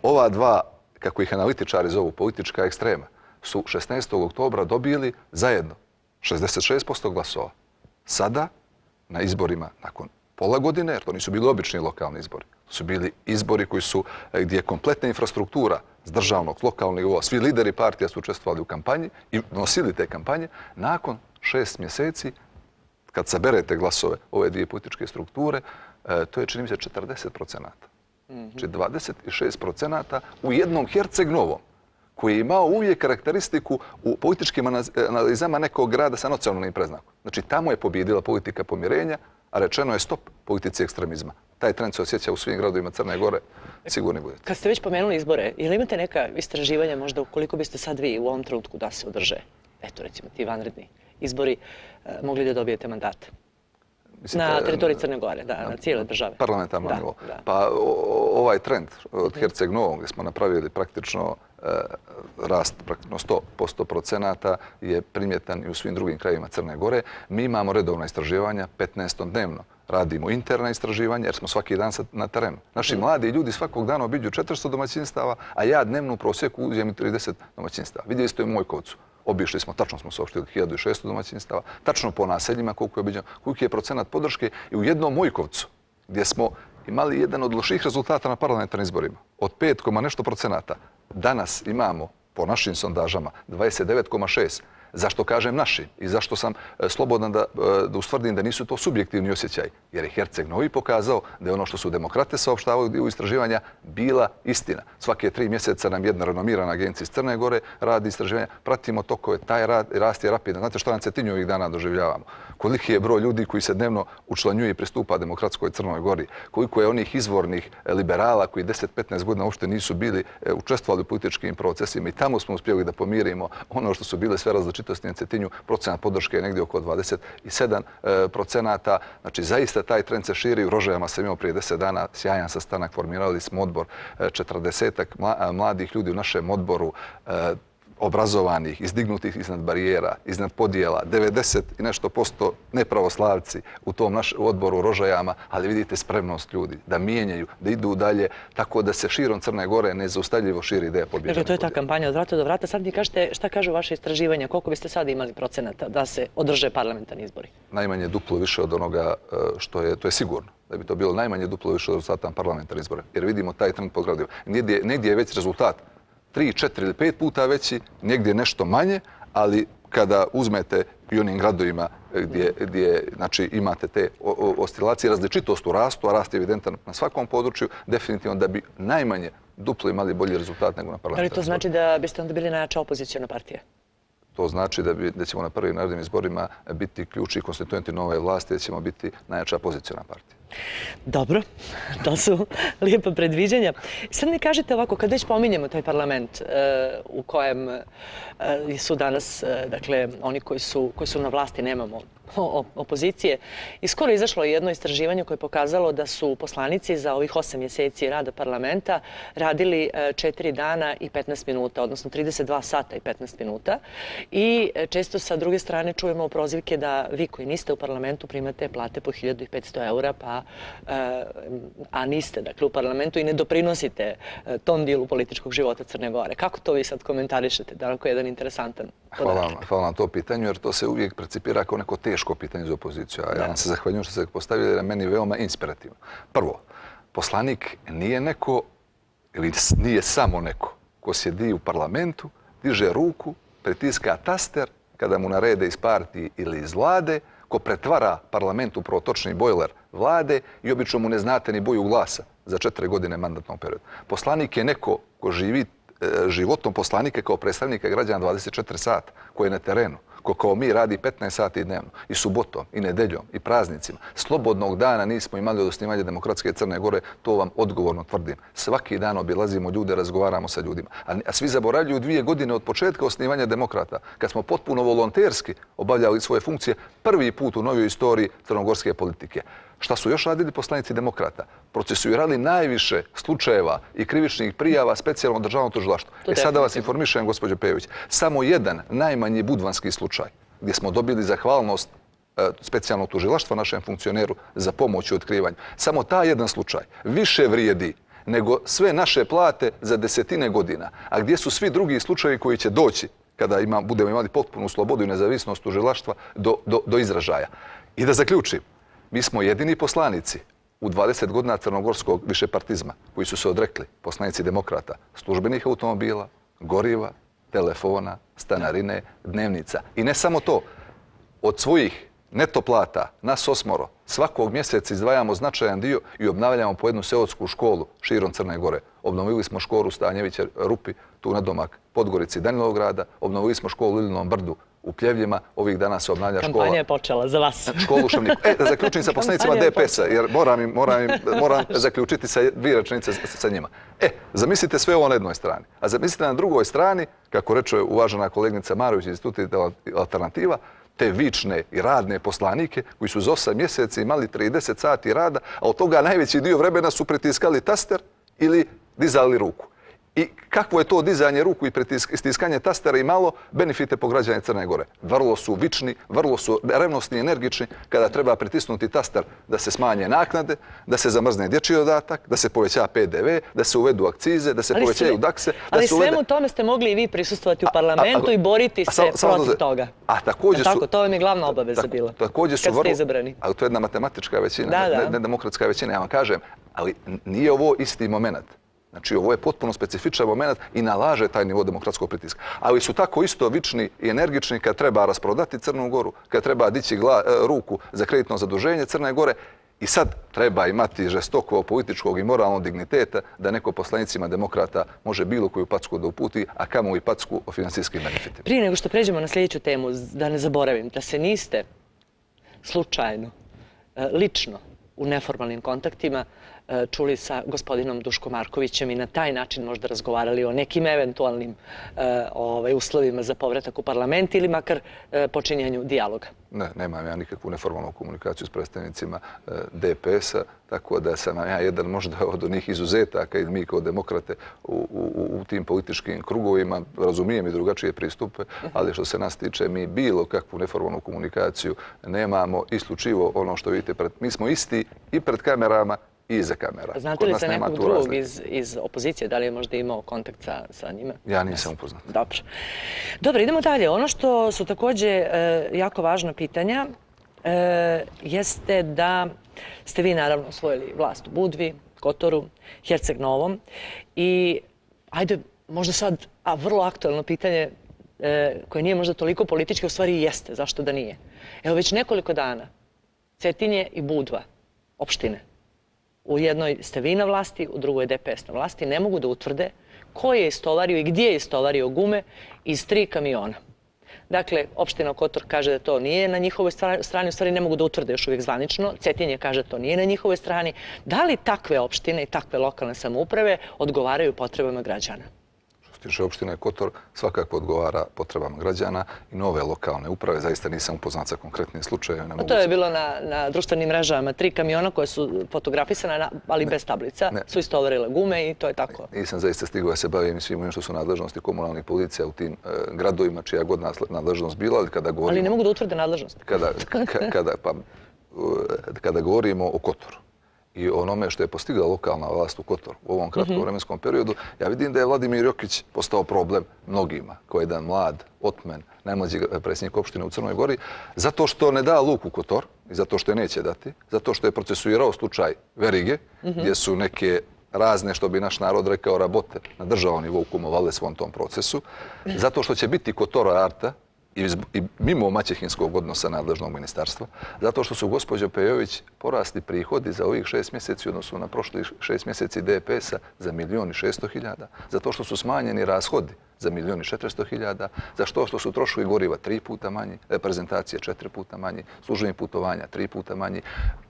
ova dva, kako ih analitičari zovu, politička ekstrema, su šesnaestog oktobra dobili zajedno šezdeset šest posto glasova. Sada, na izborima nakon pola godine, jer to nisu bili obični lokalni izbori, to su bili izbori koji su, gdje je kompletna infrastruktura s državnog, lokalnog nivoa, svi lideri partija su učestvovali u kampanji i nosili te kampanje, nakon šest mjeseci, kad saberete glasove ove dvije političke strukture, to je, čini mi se, četrdeset procenata. Znači dvadeset šest procenata u jednom Herceg-Novom, koji je imao uvijek karakteristiku u političkim analizama nekog grada sa nacionalnim preznakom. Znači tamo je pobjedila politika pomirenja, a rečeno je stop politici ekstremizma. Taj trend se osjeća u svim gradovima Crne Gore, sigurni budete. Kad ste već pomenuli izbore, ili imate neka istraživanja možda koliko biste sad vi u ovom trenutku da se održe, eto recimo ti vanredni izbori, mogli da dobijete mandate? Na teritoriji Crne Gore, da, na cijele države. Parlamentarno nivo. Pa ovaj trend od Herceg-Novog gdje smo napravili praktično rast praktično sto posto procenata je primjetan i u svim drugim krajevima Crne Gore. Mi imamo redovna istraživanja, petnaest dnevno. Radimo interna istraživanja jer smo svaki dan na terenu. Naši mladi ljudi svakog dana obiđu četiristo domaćinstava, a ja dnevno u prosjeku uđem i trideset domaćinstava. Vidjeli ste u Mojkovcu. Obišli smo, tačno smo saopštili hiljadu šesto domaćinstava, tačno po naseljima koliko je obiđeno, koliki je procenat podrške i u jednom Mojkovcu gdje smo imali jedan od loših rezultata na parlamentarnim izborima. Od pet koma nešto procenata. Danas imamo, po našim sondažama, dvadeset devet koma šest. Zašto kažem naši i zašto sam slobodan da, da ustvrdim da nisu to subjektivni osjećaj? Jer je Herceg-Novi pokazao da je ono što su demokrate saopštavali u istraživanja bila istina. Svake tri mjeseca nam jedna renomirana agencija iz Crne Gore radi istraživanja. Pratimo tokove, taj rad, rast je rapidan. Znate šta na Cetinju ovih dana doživljavamo? Koliki je broj ljudi koji se dnevno učlanjuje i pristupa demokratskoj Crnoj Gori? Koliko je onih izvornih liberala koji deset do petnaest godina uopšte nisu bili učestvovali u političkim procesima i tamo smo uspjeli da pomirimo ono što su bile sve različitosti na Cetinju. Procenat podrške je negdje oko dvadeset sedam procenata. Znači, zaista taj trend se širi. U Rožajama sam imao prije deset dana sjajan sastanak. Formirali smo odbor četrdesetak mladih ljudi u našem odboru, obrazovanih, izdignutih iznad barijera, iznad podijela, devedeset i nešto posto nepravoslavci u tom našem odboru u Rožajama, ali vidite spremnost ljudi da mijenjaju, da idu dalje, tako da se širom Crne Gore nezaustavljivo širi ideja pobjede. Dakle, to je ta kampanja od vrata do vrata. Sad mi kažete šta kažu vaše istraživanja, koliko biste sad imali procenata da se održe parlamentarni izbori? Najmanje duplo više od onoga što je, to je sigurno. Da bi to bilo najmanje duplo više od rezultata parlamentarnih izbora. Jer vidimo taj trend po gradovima. Negdje, negdje je već rezultat tri, četiri ili pet puta veći, negdje nešto manje, ali kada uzmete i onim gradovima gdje, gdje znači, imate te oscilacije, različitost u rastu, a rast je evidentan na svakom području, definitivno da bi najmanje duplo imali bolji rezultat nego na parlamentarnim izborima. Da li to znači da biste onda bili najjača opozicijona partija? To znači da, bi, da ćemo na prvim narodnim izborima biti ključni konstituenti nove vlasti, da ćemo biti najjača opozicijona partija. Dobro, to su lijepa predviđanja. Sad mi kažete ovako, kad već pominjemo taj parlament u kojem su danas, dakle, oni koji su, koji su na vlasti, nemamo opozicije, i skoro izašlo jedno istraživanje koje je pokazalo da su poslanici za ovih osam mjeseci rada parlamenta radili četiri dana i petnaest minuta, odnosno trideset dva sata i petnaest minuta. I često sa druge strane čujemo prozivke da vi koji niste u parlamentu primate plate po hiljadu petsto eura, pa, a niste dakle, u parlamentu i ne doprinosite tom dijelu političkog života Crne Gore. Kako to vi sad komentarišete? Da li je jedan interesantan podatak? Hvala, hvala na to pitanju, jer to se uvijek precipira kao neko teško pitanje za opoziciju. A ja vam se zahvaljujem što ste postavili, jer je meni veoma inspirativno. Prvo, poslanik nije neko, ili nije samo neko, ko sjedi u parlamentu, diže ruku, pritiska taster, kada mu narede iz partije ili iz vlade, ko pretvara parlament u protočni bojler vlade i obično mu ne znate ni boju glasa za četiri godine mandatnog perioda. Poslanik je neko ko živi životom poslanike kao predstavnika građana dvadeset četiri sata, koji je na terenu, ko kao mi radi petnaest sati dnevno, i subotom, i nedeljom, i praznicima. Slobodnog dana nismo imali od osnivanja demokratske Crne Gore, to vam odgovorno tvrdim. Svaki dan obilazimo ljude, razgovaramo sa ljudima. A svi zaboravljaju dvije godine od početka osnivanja demokrata, kad smo potpuno volonterski obavljali svoje funkcije, prvi put u novoj istoriji crnogorske politike. Šta su još radili poslanici demokrata? Procesuirali najviše slučajeva i krivičnih prijava specijalno državno tužilaštvo. E sada vas informišem, gospođo Pejović, samo jedan najmanji budvanski slučaj gdje smo dobili zahvalnost specijalnog tužilaštva našem funkcioneru za pomoć u otkrivanju. Samo taj jedan slučaj više vrijedi nego sve naše plate za desetine godina. A gdje su svi drugi slučajevi koji će doći kada ima, budemo imali potpunu slobodu i nezavisnost tužilaštva do, do, do izražaja? I da zaključim, mi smo jedini poslanici u dvadeset godina crnogorskog višepartizma koji su se odrekli, poslanici demokrata, službenih automobila, goriva, telefona, stanarine, dnevnica. I ne samo to, od svojih neto plata, nas osmoro, svakog mjeseca izdvajamo značajan dio i obnavljamo po jednu seosku školu širom Crne Gore. Obnovili smo školu Stanjevića Rupi, tu na domak Podgorici Danilovgrada, obnovili smo školu u Ilinom Brdu u Pljevljima, ovih dana se obnavlja škola... Kampanja je počela za vas. Školu u Šumniku. E, da zaključim sa poslanicima D P S-a, jer moram, im, moram, im, moram zaključiti sa dvije rečenice sa njima. E, zamislite sve ovo na jednoj strani. A zamislite na drugoj strani, kako reče uvažena kolegnica Marović iz Instituta Alternativa, te vične i radne poslanike koji su za osam mjeseci imali trideset sati rada, a od toga najveći dio vremena su pritiskali taster ili dizali ruku. I kakvo je to dizanje ruku i stiskanje tastera imalo benefite po građane Crne Gore? Vrlo su vični, vrlo su revnosni i energični kada treba pritisnuti taster da se smanje naknade, da se zamrzne dječji dodatak, da se poveća P D V, da se uvedu akcize, da se povećaju dakse. Ali svemu tome ste mogli i vi prisustvovati u parlamentu i boriti se protiv toga. A također su... To vam je glavna obaveza bila, kad ste izabrani. Ali to je jedna matematička većina, ne demokratska većina, ja vam kažem. Ali nije ovo isti moment. Znači, ovo je potpuno specifičan moment i nalaže taj nivo demokratskog pritiska. Ali su tako isto vični i energični kad treba rasprodati Crnu Goru, kad treba dići ruku za kreditno zaduženje Crne Gore. I sad treba imati žestoko političkog i moralnog digniteta da neko poslanicima demokrata može bilo koju packu da uputi, a kamo i packu o finansijskim benefitima. Prije nego što pređemo na sljedeću temu, da ne zaboravim, da se niste slučajno, lično, u neformalnim kontaktima čuli sa gospodinom Duškom Markovićem i na taj način možda razgovarali o nekim eventualnim uslovima za povratak u parlament ili makar počinjenju dijaloga. Ne, nemam ja nikakvu neformalnu komunikaciju s predstavnicima D P S-a, tako da sam ja jedan možda od onih izuzetaka i mi kao demokrate u tim političkim krugovima razumijem i drugačije pristupe, ali što se nas tiče mi bilo kakvu neformalnu komunikaciju nemamo, isključivo ono što vidite, mi smo isti i pred kamerama i iza kamera. Znate li se nekog drugog iz opozicije? Da li je možda imao kontakt sa njima? Ja nisam upoznat. Dobro. Dobro, idemo dalje. Ono što su također jako važna pitanja jeste da ste vi naravno osvojili vlast u Budvi, Kotoru, Herceg Novom i ajde, možda sad, a vrlo aktualno pitanje koje nije možda toliko politički, u stvari jeste, zašto da nije. Evo već nekoliko dana Cetinje i Budva, opštine, u jednoj ste vi na vlasti, u drugoj je D P S na vlasti, ne mogu da utvrde ko je istovario i gdje je istovario gume iz tri kamiona. Dakle, opština Kotor kaže da to nije na njihovoj strani, u stvari ne mogu da utvrde još uvijek zvanično, Cetinje kaže da to nije na njihovoj strani. Da li takve opštine i takve lokalne samouprave odgovaraju potrebama građana? Tiče opštine Kotor svakako odgovara potrebama građana i nove lokalne uprave. Zaista nisam upoznat sa konkretnim slučajevima. To je bilo na društvenim mrežama. Tri kamiona koje su fotografisane, ali bez tablica, su istovarile gume i to je tako. Nisam zaista stigao da se bavim i svim onim što su nadležnosti komunalnih policija u tim gradovima, čija god nadležnost bila. Ali ne mogu da utvrde nadležnost. Kada govorimo o Kotoru i onome što je postigla lokalna vlast u Kotoru u ovom kratkom vremenskom periodu, ja vidim da je Vladimir Jokić postao problem mnogima, koji je jedan mlad, otmen, najmlađi predsjednik opštine u Crnoj Gori, zato što ne da luk u Kotor i zato što je neće dati, zato što je procesuirao slučaj Verige, gdje su neke razne, što bi naš narod rekao, rabote na državnom nivou kumovale svom tom procesu, zato što će biti Kotora Arta, i mimo maćehinskog odnosa nadležnog ministarstva, zato što su gospođo Pejović porasli prihodi za ovih šest mjeseci, odnosno na prošlih šest mjeseci D P S-a za milijon i šesto hiljada, zato što su smanjeni rashodi za milijon i četiristo hiljada, za što što su troškovi goriva tri puta manji, reprezentacije četiri puta manji, službenih putovanja tri puta manji,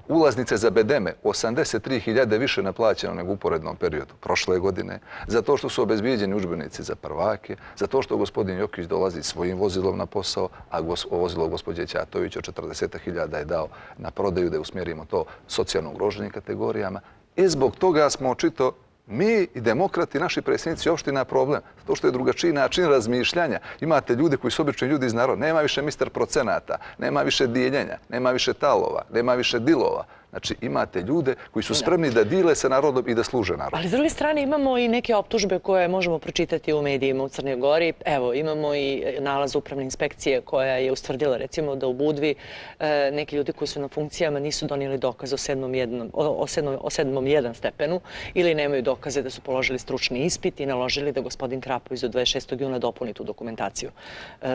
ulaznice za bedeme osamdeset tri hiljade više naplaćeno nego u uporednom periodu prošle godine, zato što su obezbijeđeni udžbenici za prvake, zato što gospodin Jokić dolazi svojim vozilom na posao, a vozilo gospođe Ćatović od četrdeset hiljada je dao na prodaju da usmjerimo to socijalno ugroženim kategorijama. I zbog toga smo očito mi i demokrati, naši predsjednici opština problem. To što je drugačiji način razmišljanja. Imate ljude koji su obični ljudi iz naroda. Nema više mister procenata, nema više dijeljenja, nema više talova, nema više dilova. Znači, imate ljude koji su spremni da dile sa narodom i da služe narodu. Ali s druge strane imamo i neke optužbe koje možemo pročitati u medijima u Crnoj Gori. Evo, imamo i nalaz upravne inspekcije koja je ustvrdila, recimo, da u Budvi neki ljudi koji su na funkcijama nisu donijeli dokaz o sedmom jedan stepenu ili nemaju dokaze da su položili stručni ispit i naložili da gospodin Krapović do dvadeset šestog juna dopuni tu dokumentaciju.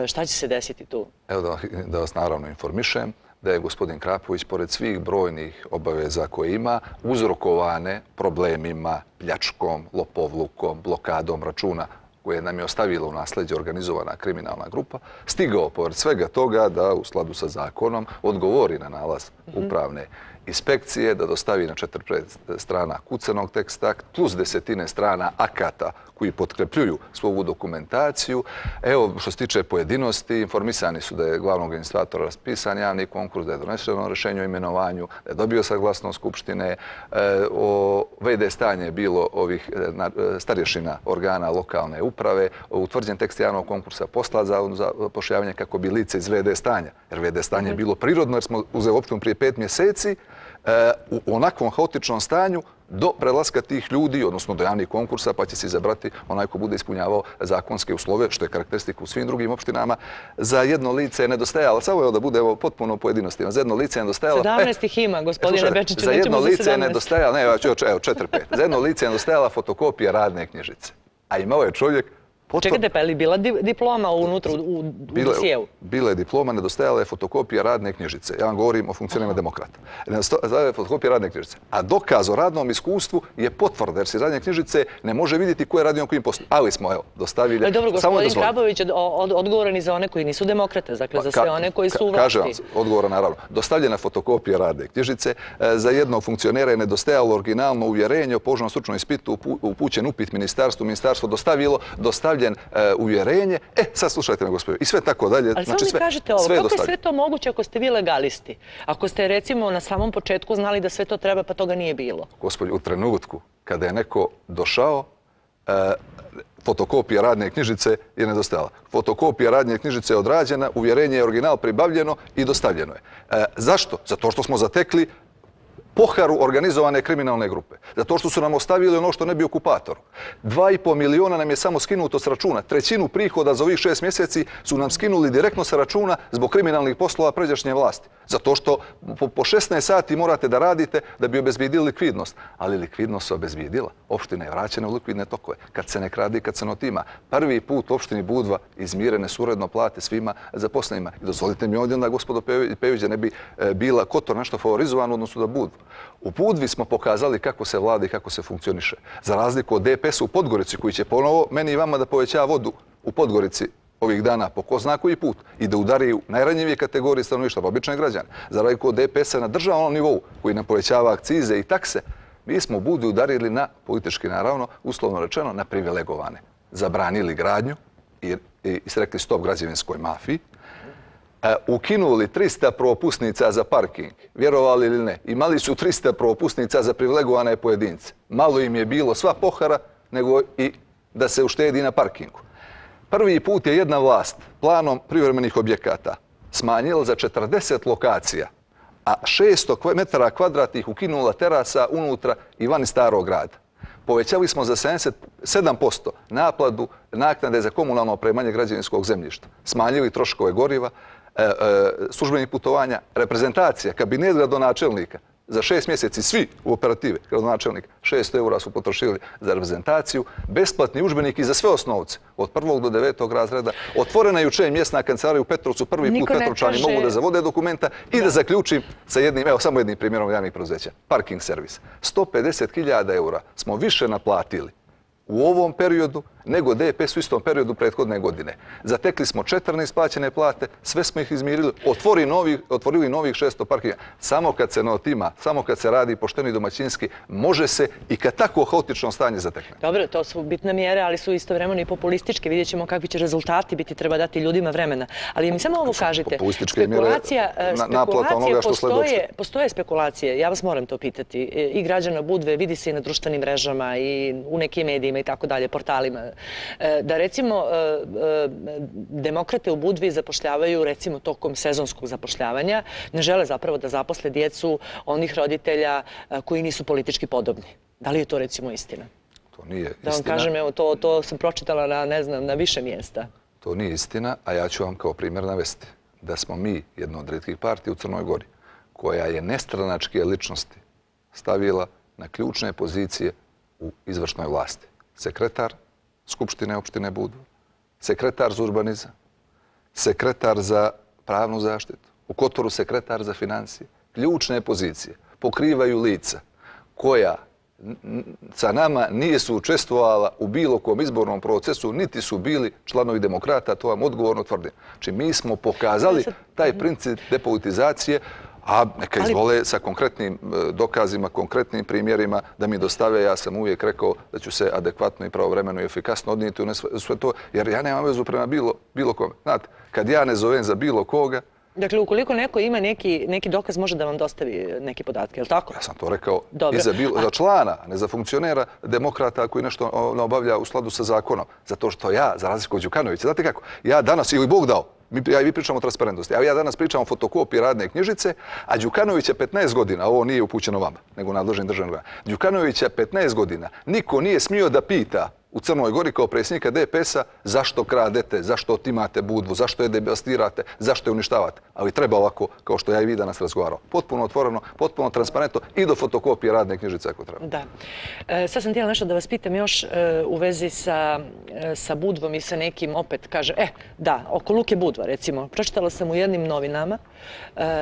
Šta će se desiti tu? Evo da vas naravno informišem da je gospodin Krapović, pored svih brojnih obaveza koje ima, uzrokovane problemima, pljačkom, lopovlukom, blokadom računa koje nam je ostavila u nasleđe organizovana kriminalna grupa, stigao pored svega toga da u skladu sa zakonom odgovori na nalaz upravne inspekcije, da dostavi na četiri strana kucanog teksta plus desetine strana akata koji potkrepljuju svoju dokumentaciju. Evo, što se tiče pojedinosti, informisani su da je glavnog administratora raspisan javni konkurs, da je doneseno rješenje o imenovanju, da je dobio saglasnost Skupštine, o V D stanje je bilo ovih starješina organa lokalne uprave, utvrđen tekst javnog konkursa poslat za zapošljavanje kako bi lice iz V D stanja, jer V D stanje je bilo prirodno jer smo uzeli opštinu prije pet mjeseci, u onakvom haotičnom stanju do prelaska tih ljudi, odnosno do javnih konkursa, pa će se izabrati onaj ko bude ispunjavao zakonske uslove, što je karakteristika u svim drugim opštinama. Za jedno lice je nedostajalo, samo je da bude potpuno u pojedinostima, za jedno lice je nedostajalo... sedamnaest ih ima, gospodine Bečiću, za jedno lice je nedostajalo, ne, evo, četiri, pet. Za jedno lice je nedostajala fotokopija radne knjižice. A imao je čovjek... Čekajte, pa je li bila diploma unutra u dosijevu? Bila je diploma, nedostajala je fotokopija radne knjižice. Ja vam govorim o funkcionima demokrata. Nedostajala je fotokopija radne knjižice. A dokaz o radnom iskustvu je potvrda, jer se radne knjižice ne može vidjeti ko je radio na kojim poslu. Ali smo, evo, dostavili... Ali dobro, gospodin Krapović je odgovoran i za one koji nisu demokrate, dakle za sve one koji su u vlasti. Kažem vam, odgovoran naravno. Dostavljena fotokopija radne knjižice. Za jednog funkcionera je nedostajalo originalno uvjerenje o položenom stručnom ispitu, upućen upit ministarstvu, ministarstvo dostavilo, dostavljen uvjerenje. E, sad slušajte me, gospodine, i sve tako dalje. Ali samo mi kažete ovo, kako je sve to moguće ako ste vi legalisti? Ako ste, recimo, na samom početku znali da sve to treba, pa toga nije bilo? Gospodin, u trenutku kada je neko došao, fotokopija radne knjižice je nedostajala. Fotokopija radne knjižice je odrađena, uvjerenje je original pribavljeno i dostavljeno je. Zašto? Zato što smo zatekli poharu organizovane kriminalne grupe. Zato što su nam ostavili ono što ne bi okupatoru. Dva i po miliona nam je samo skinuto s računa. Trećinu prihoda za ovih šest mjeseci su nam skinuli direktno sa računa zbog kriminalnih poslova pređašnje vlasti. Zato što po šesnaest sati morate da radite da bi obezbijedili likvidnost. Ali likvidnost se obezbijedila. Opština je vraćena u likvidne tokove. Kad se ne kradi, kad se ne otima. Prvi put u opštini Budva izmirene su uredno plate svima zaposlenima. I dozvolite mi ovdje onda, gospodo Pejović, da ne bi bila Kotor nešto favorizovan u odnosu da Budvu. U Budvi smo pokazali kako se vlada i kako se funkcioniše. Za razliku od D P S-a u Podgorici, koji će ponovo meni i vama da poveća vodu u Podgorici ovih dana po ko zna koji put i da udari u najranjivije kategorije stanovništva, pa obične građane. Za razliku od D P S-a na državnom nivou, koji nam povećava akcize i takse, mi smo Budvi udarili na, politički naravno, uslovno rečeno, na privilegovane. Zabranili gradnju i isrekli stop građevinskoj mafiji, ukinuli trista propusnica za parking, vjerovali ili ne, imali su trista propusnica za privilegovane pojedince. Malo im je bilo sva pohara, nego i da se uštedi na parkingu. Prvi put je jedna vlast planom privremenih objekata smanjila za četrdeset lokacija, a šesto metara kvadratnih ukinula terasa unutra i vani starog grada. Povećali smo za sedamdeset sedam posto naplatu naknade za komunalno opremanje građevinskog zemljišta. Smanjili troškove goriva, službenih putovanja, reprezentacija, kabinet gradonačelnika. Za šest mjeseci svi u operativi gradonačelnika šesto eura su potrošili za reprezentaciju, besplatni udžbeniki za sve osnovce, od prvog do devetog razreda. Otvorena je jučer mjesna kancelarija u Petrovcu, prvi put Petrovčani mogu da zavode dokumenta i da zaključim sa jednim, evo samo jednim primjerom javnih preduzeća, parking servis. sto pedeset hiljada eura smo više naplatili u ovom periodu nego D P S u istom periodu prethodne godine. Zatekli smo četiri neisplaćene plate, sve smo ih izmirili, otvorili novih šesto parkinga. Samo kad se ne otima, samo kad se radi pošteno i domaćinski, može se i kad tako haotično stanje zatekne. Dobro, to su bitne mjere, ali su istovremeno i populističke. Vidjet ćemo kakvi će rezultati biti, treba dati ljudima vremena. Ali mi samo ovo kažite, spekulacija, spekulacije, postoje spekulacije, ja vas moram to pitati, i građana Budve, vidi se i na društvenim mrežama i u nekim medijima i tako dalje, portalima, da recimo demokrate u Budvi zapošljavaju recimo tokom sezonskog zapošljavanja, ne žele zapravo da zaposle djecu onih roditelja koji nisu politički podobni. Da li je to recimo istina? To nije istina. Da vam kažem, evo, to, to sam pročitala na, ne znam, na više mjesta. To nije istina, a ja ću vam kao primjer navesti da smo mi jedna od rijetkih partija u Crnoj Gori koja je nestranačke ličnosti stavila na ključne pozicije u izvršnoj vlasti. Sekretar Skupštine opštine Budva, sekretar za urbanizam, sekretar za pravnu zaštitu, u Kotoru sekretar za financije. Ključne pozicije pokrivaju lica koja sa nama nije su učestvovala u bilo kom izbornom procesu, niti su bili članovi demokrata, to vam odgovorno tvrdim. Znači, mi smo pokazali taj princip depolitizacije, a neka izvole sa konkretnim dokazima, konkretnim primjerima da mi dostave. Ja sam uvijek rekao da ću se adekvatno i pravovremeno i efikasno odnijeti u sve to, jer ja nemam vezu prema bilo kome. Znate, kad ja ne zovem za bilo koga... Dakle, ukoliko neko ima neki dokaz, može da vam dostavi neke podatke, je li tako? Ja sam to rekao i za člana, a ne za funkcionera demokrata koji nešto ne obavlja u skladu sa zakonom. Zato što ja, za razliku od Đukanovića, znate kako, ja danas, ili Bog dao, ja i vi pričamo o transparentnosti, a ja danas pričam o fotokopiji radne knjižice, a Đukanovića petnaest godina, ovo nije upućeno vama, nego nadležnim državnim organima, Đukanovića petnaest godina niko nije smio da pita u Crnoj Gori kao predsjednika D P S-a zašto kradete, zašto otimate Budvu, zašto je devastirate, zašto je uništavate. Ali treba ovako, kao što ja i vi danas razgovarao. Potpuno otvoreno, potpuno transparentno i do fotokopije radne knjižice ako treba. Da. Sad sam htjela nešto da vas pitam još u vezi sa Budvom i sa nekim opet kaže, e, da, oko Luke Budva recimo. Pročitala sam u jednim novinama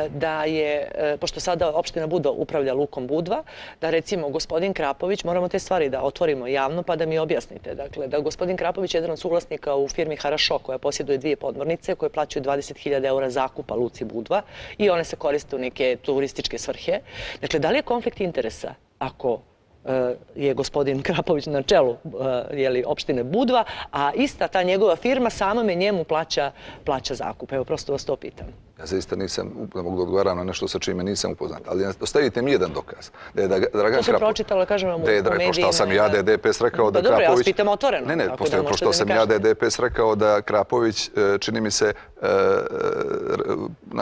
da je, pošto sada opština Budva upravlja Lukom Budva, da recimo gospodin Krapović, moramo te stvari da otvorimo javno pa da mi objasnite. Dakle, da gospodin Krapović je jedan od suvlasnika u firmi Harašo koja posjeduje dvije podmornice koje plaćaju dvadeset hiljada eura zakupa Luci Budva i one se koriste u neke turističke svrhe. Dakle, da li je konflikt interesa ako je gospodin Krapović na čelu opštine Budva, a ista ta njegova firma samome njemu plaća zakup? Evo, prosto vas to pitam. Ja zaista nisam, ne mogu da odgovaram na nešto sa čime nisam upoznat, ali ostavite mi jedan dokaz. To sam pročitala, kažem vam, u medijima. Pošto sam ja da je D P S rekao da Krapović... Dobro, ja vas pitam otvoreno. Ne, ne, pošto sam ja da je D P S rekao da Krapović, čini mi se...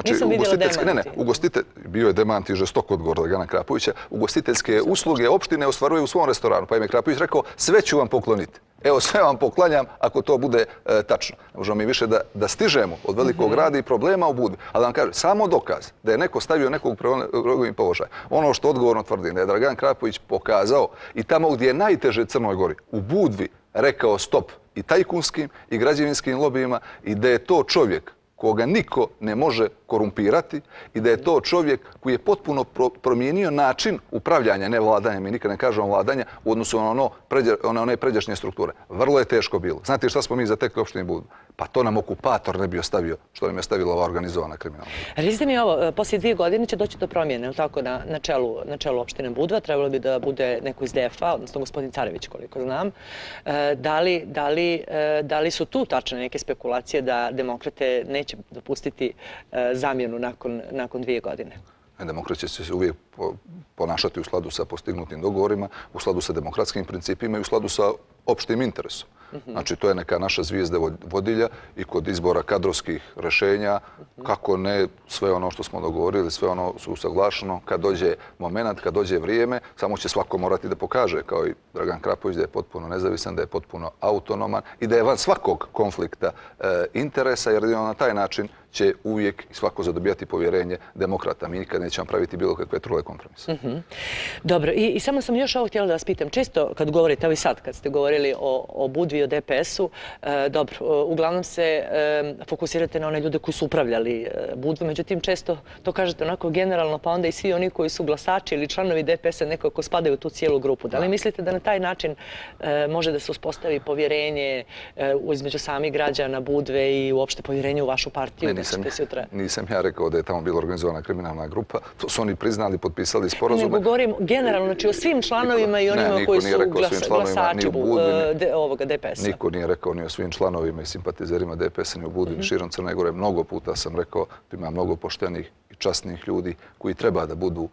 Nisam vidjela demanti. Ne, ne, ugostite, bio je demant i žestok odgovor Dragana Krapovića, ugostiteljske usluge opštine ostvaruje u svom restoranu. Pa im je Krapović rekao, sve ću vam pokloniti. Evo, sve vam poklanjam ako to bude tačno. Ne možemo mi više da stižemo od velikog rada i problema u Budvi. Ali da vam kažem, samo dokaz da je neko stavio nekog u položaj. Ono što odgovorno tvrdim, da je Dragan Krapović pokazao i tamo gdje je najteže Crnoj Gori, u Budvi, rekao stop i tajkunskim i građevinskim lobijima i da je to čovjek koga niko ne može korumpirati i da je to čovjek koji je potpuno promijenio način upravljanja, ne vladanja, mi nikad ne kažemo vladanja, u odnosu na one pređašnje strukture. Vrlo je teško bilo. Znate šta smo mi zatekli opštini Budvu? Pa to nam okupator ne bi ostavio, što nam je stavila ova organizovana kriminalna. Recite mi ovo, poslije dvije godine će doći do promjene, ili tako, na čelu opštine Budva. Trebalo bi da bude neko iz D F A, odnosno gospodin Carević, koliko znam. Da li su tu tačne neke spekulacije da demokrate neće dopustiti zamjenu nakon dvije godine? Demokrat će se uvijek ponašati u skladu sa postignutim dogovorima, u skladu sa demokratskim principima i u skladu sa opštim interesom. Znači, to je neka naša zvijezda vodilja i kod izbora kadrovskih rešenja, kako ne sve ono što smo dogovorili, sve ono su usaglašeno, kad dođe moment, kad dođe vrijeme, samo će svako morati da pokaže, kao i Dragan Krapović, da je potpuno nezavisan, da je potpuno autonoman i da je van svakog konflikta interesa, jer na taj način će uvijek i svako zadobijati povjerenje demokrata. Mi nikad nećemo praviti bilo kakve trule kompromise. Dobro, i samo sam još ovo htjela da vas pitam. Često kad govorite, evo i sad, kad ste govorili o Budvi i o D P S-u, dobro, uglavnom se fokusirate na one ljude koji su upravljali Budvu, međutim često to kažete onako generalno, pa onda i svi oni koji su glasači ili članovi D P S-a nekako spadaju u tu cijelu grupu. Da li mislite da na taj način može da se uspostavi povjerenje između samih građana Budve i uopšte povjerenje u vašu partiju? Nisam ja rekao da je tamo bila organizovana kriminalna grupa. To su oni priznali, potpisali sporazume. Nego govorim generalno, znači o svim članovima i onima koji su glasači ovoga D P S-a. Niko nije rekao ni o svim članovima i simpatizerima D P S-a ni u Budvi, ni širom Crne Gore. Mnogo puta sam rekao da ima mnogo poštenih i časnih ljudi koji treba da budu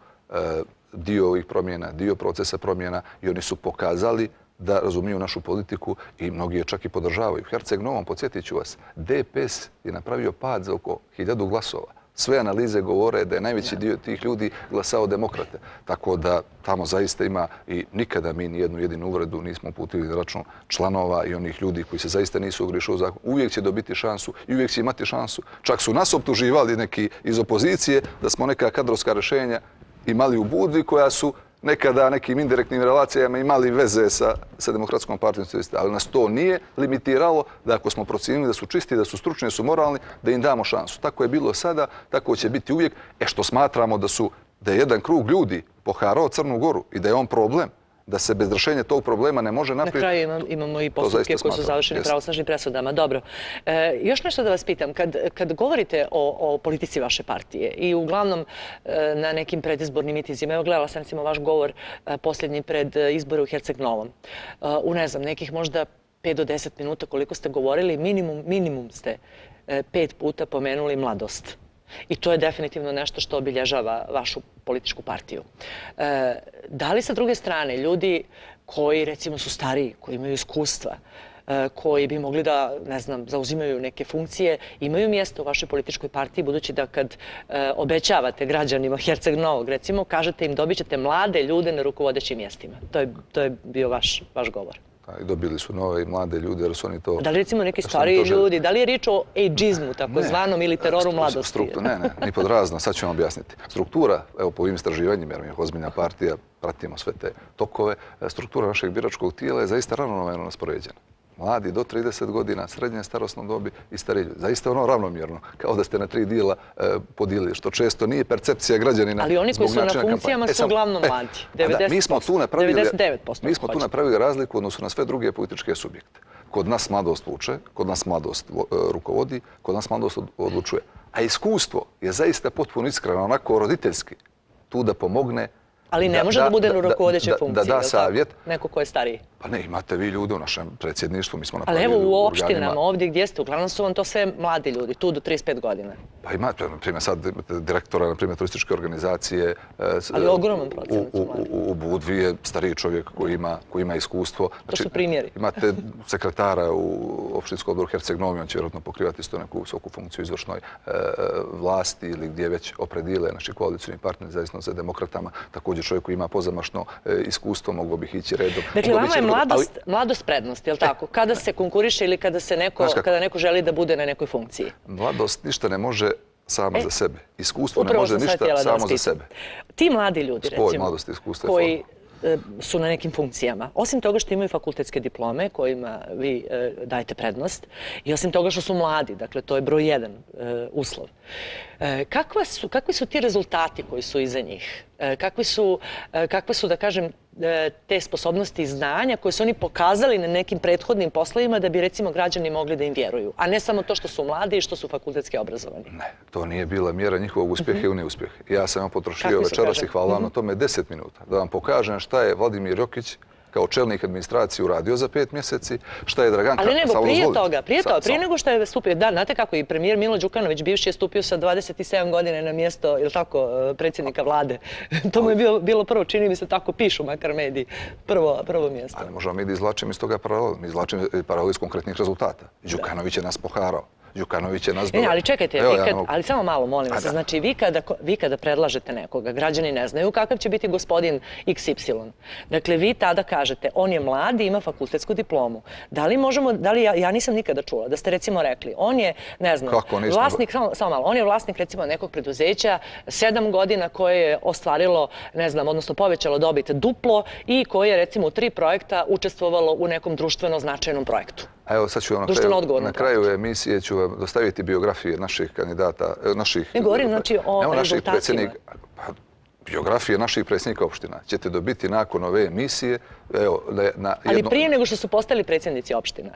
dio ovih promjena, dio procesa promjena i oni su pokazali da razumiju našu politiku i mnogi je čak i podržavaju. U Herceg Novom, podsjetit ću vas, D P S je napravio pad za oko hiljadu glasova. Sve analize govore da je najveći dio tih ljudi glasao demokrate. Tako da tamo zaista ima i nikada mi nijednu jedinu uvredu nismo uputili na račun članova i onih ljudi koji se zaista nisu ogriješili u zakon. Uvijek će dobiti šansu i uvijek će imati šansu. Čak su nas optuživali neki iz opozicije da smo neka kadrovska rješenja imali u Budvi koja su nekada nekim indirektnim relacijama imali veze sa, sa Demokratskom partijom socijalista, ali nas to nije limitiralo da ako smo procijenili da su čisti, da su stručni, da su moralni, da im damo šansu. Tako je bilo sada, tako će biti uvijek. E što smatramo da su da je jedan krug ljudi poharao Crnu Goru i da je on problem, da se bez rješenja tog problema ne može naprijed. Na kraju imam, imamo i postupke koji su završeni pravosnažnim presudama. Dobro. E, još nešto da vas pitam. Kad, kad govorite o, o politici vaše partije i uglavnom e, na nekim predizbornim mitizima, evo gledala sam recimo vaš govor e, posljednji pred izbore u Herceg Novom. E, u ne znam, nekih možda pet do deset minuta koliko ste govorili, minimum, minimum ste e, pet puta pomenuli mladost. I to je definitivno nešto što obilježava vašu političku partiju. E, da li sa druge strane ljudi koji recimo su stariji, koji imaju iskustva, e, koji bi mogli da, ne znam, zauzimaju neke funkcije, imaju mjesto u vašoj političkoj partiji, budući da kad e, obećavate građanima Herceg Novog, recimo, kažete im dobit ćete mlade ljude na rukovodećim mjestima. To je, to je bio vaš, vaš govor. I dobili su nove i mlade ljude, jer su oni to... Da li recimo neki stariji ljudi, da li je riječ o ageizmu, takozvanom, ili teroru mladosti? Ne, ne, ni pod razno, sad ću vam objasniti. Struktura, evo po ovim istraživanjima, jer mi je ozbiljna partija, pratimo sve te tokove, struktura našeg biračkog tijela je zaista ravnomjerno raspoređena. Mladi do trideset godina, srednje starosno dobi i stariji ljudi. Zaista ono ravnomjerno, kao da ste na tri dijela e, podijelili, što često nije percepcija građanina. Ali oni koji su na funkcijama su uglavnom mladi. E, mi smo tu napravili, mi smo tu napravili razliku odnosu na sve druge političke subjekte. Kod nas mladost vuče, kod nas mladost rukovodi, kod nas mladost odlučuje. A iskustvo je zaista potpuno iskreno, onako roditeljski, tu da pomogne. Ali ne može da bude u rukovodećoj funkciji, da da savjet. Neko ko je stariji. Pa ne, imate vi ljude u našem predsjedništvu, mi smo napravili ali evo u organima. opštinama, ovdje gdje ste, uglavnom su vam to sve mladi ljudi, tu do trideset pet godina. Pa imate, na primjer, sad direktora, na primjer, turističke organizacije. Ali ogroman procenat su mladi. U Budvi je stariji čovjek koji ima, koji ima iskustvo. To su primjeri. Imate sekretara u opštinskom odboru Herceg Novi, on će vjerojatno pokrivati isto neku visoku funkciju izvršnoj vlasti ili gdje već opredile naši koalicijni partneri, zavisno za demokratama. Također čovjek koji ima pozamašno iskustvo, mogo bih ići redom. Dakle, vama je mladost, mladost prednost, je li tako? Kada se konkuriše ili kada, se neko, kada neko želi da bude na nekoj funkciji? Mladost ništa ne može sama e, za sebe. Iskustvo ne može ništa samo za sebe. Ti mladi ljudi, Spoj recimo, mladosti, iskustva koji je su na nekim funkcijama, osim toga što imaju fakultetske diplome kojima vi e, dajete prednost i osim toga što su mladi, dakle to je broj jedan e, uslov. E, kakva su, kakvi su ti rezultati koji su iza njih? E, kakvi su, e, kakve su, da kažem, e, te sposobnosti i znanja koje su oni pokazali na nekim prethodnim poslovima da bi, recimo, građani mogli da im vjeruju, a ne samo to što su mladi i što su fakultetski obrazovani? Ne, to nije bila mjera njihovog uspjeha mm-hmm. i neuspjeha. Ja sam vam potrošio večeras i hvala vam mm-hmm. na tome deset minuta da vam pokažem šta je Vladimir Jokić kao čelnik administracije uradio za pet mjeseci, šta je Dragan... Ali nego, prije toga, prije toga, prije nego što je stupio, da, znate kako i premijer Milo Đukanović, bivši, je stupio sa dvadeset sedam godine na mjesto, ili tako, predsjednika vlade. To mu je bilo, bilo prvo, čini mi se tako pišu, makar mediji, prvo, prvo mjesto. Ali možemo mi da izvlačimo iz toga paralel, mi izvlačimo paralel iz konkretnih rezultata. Đukanović je nas poharao. Đukanović je nas... Ne, ali čekajte, Evo, kad, ja, ali samo malo, molim vas. Znači, vi kada, vi kada predlažete nekoga, građani ne znaju kakav će biti gospodin iks ipsilon. Dakle, vi tada kažete, on je mlad i ima fakultetsku diplomu. Da li možemo, da li ja, ja nisam nikada čula, da ste recimo rekli, on je, ne znam, vlasnik, samo, samo malo, on je vlasnik recimo nekog preduzeća, sedam godina koje je ostvarilo, ne znam, odnosno povećalo dobit duplo i koje je recimo u tri projekta učestvovalo u nekom društveno značajnom projektu. A evo sad ću vam na kraju, na kraju emisije ću vam dostaviti biografije naših kandidata, naših... Ne govorim znači o rezultatima. Biografije naših predsjednika opština ćete dobiti nakon ove emisije. Evo, na jedno... Ali prije nego što su postali predsjednici opština?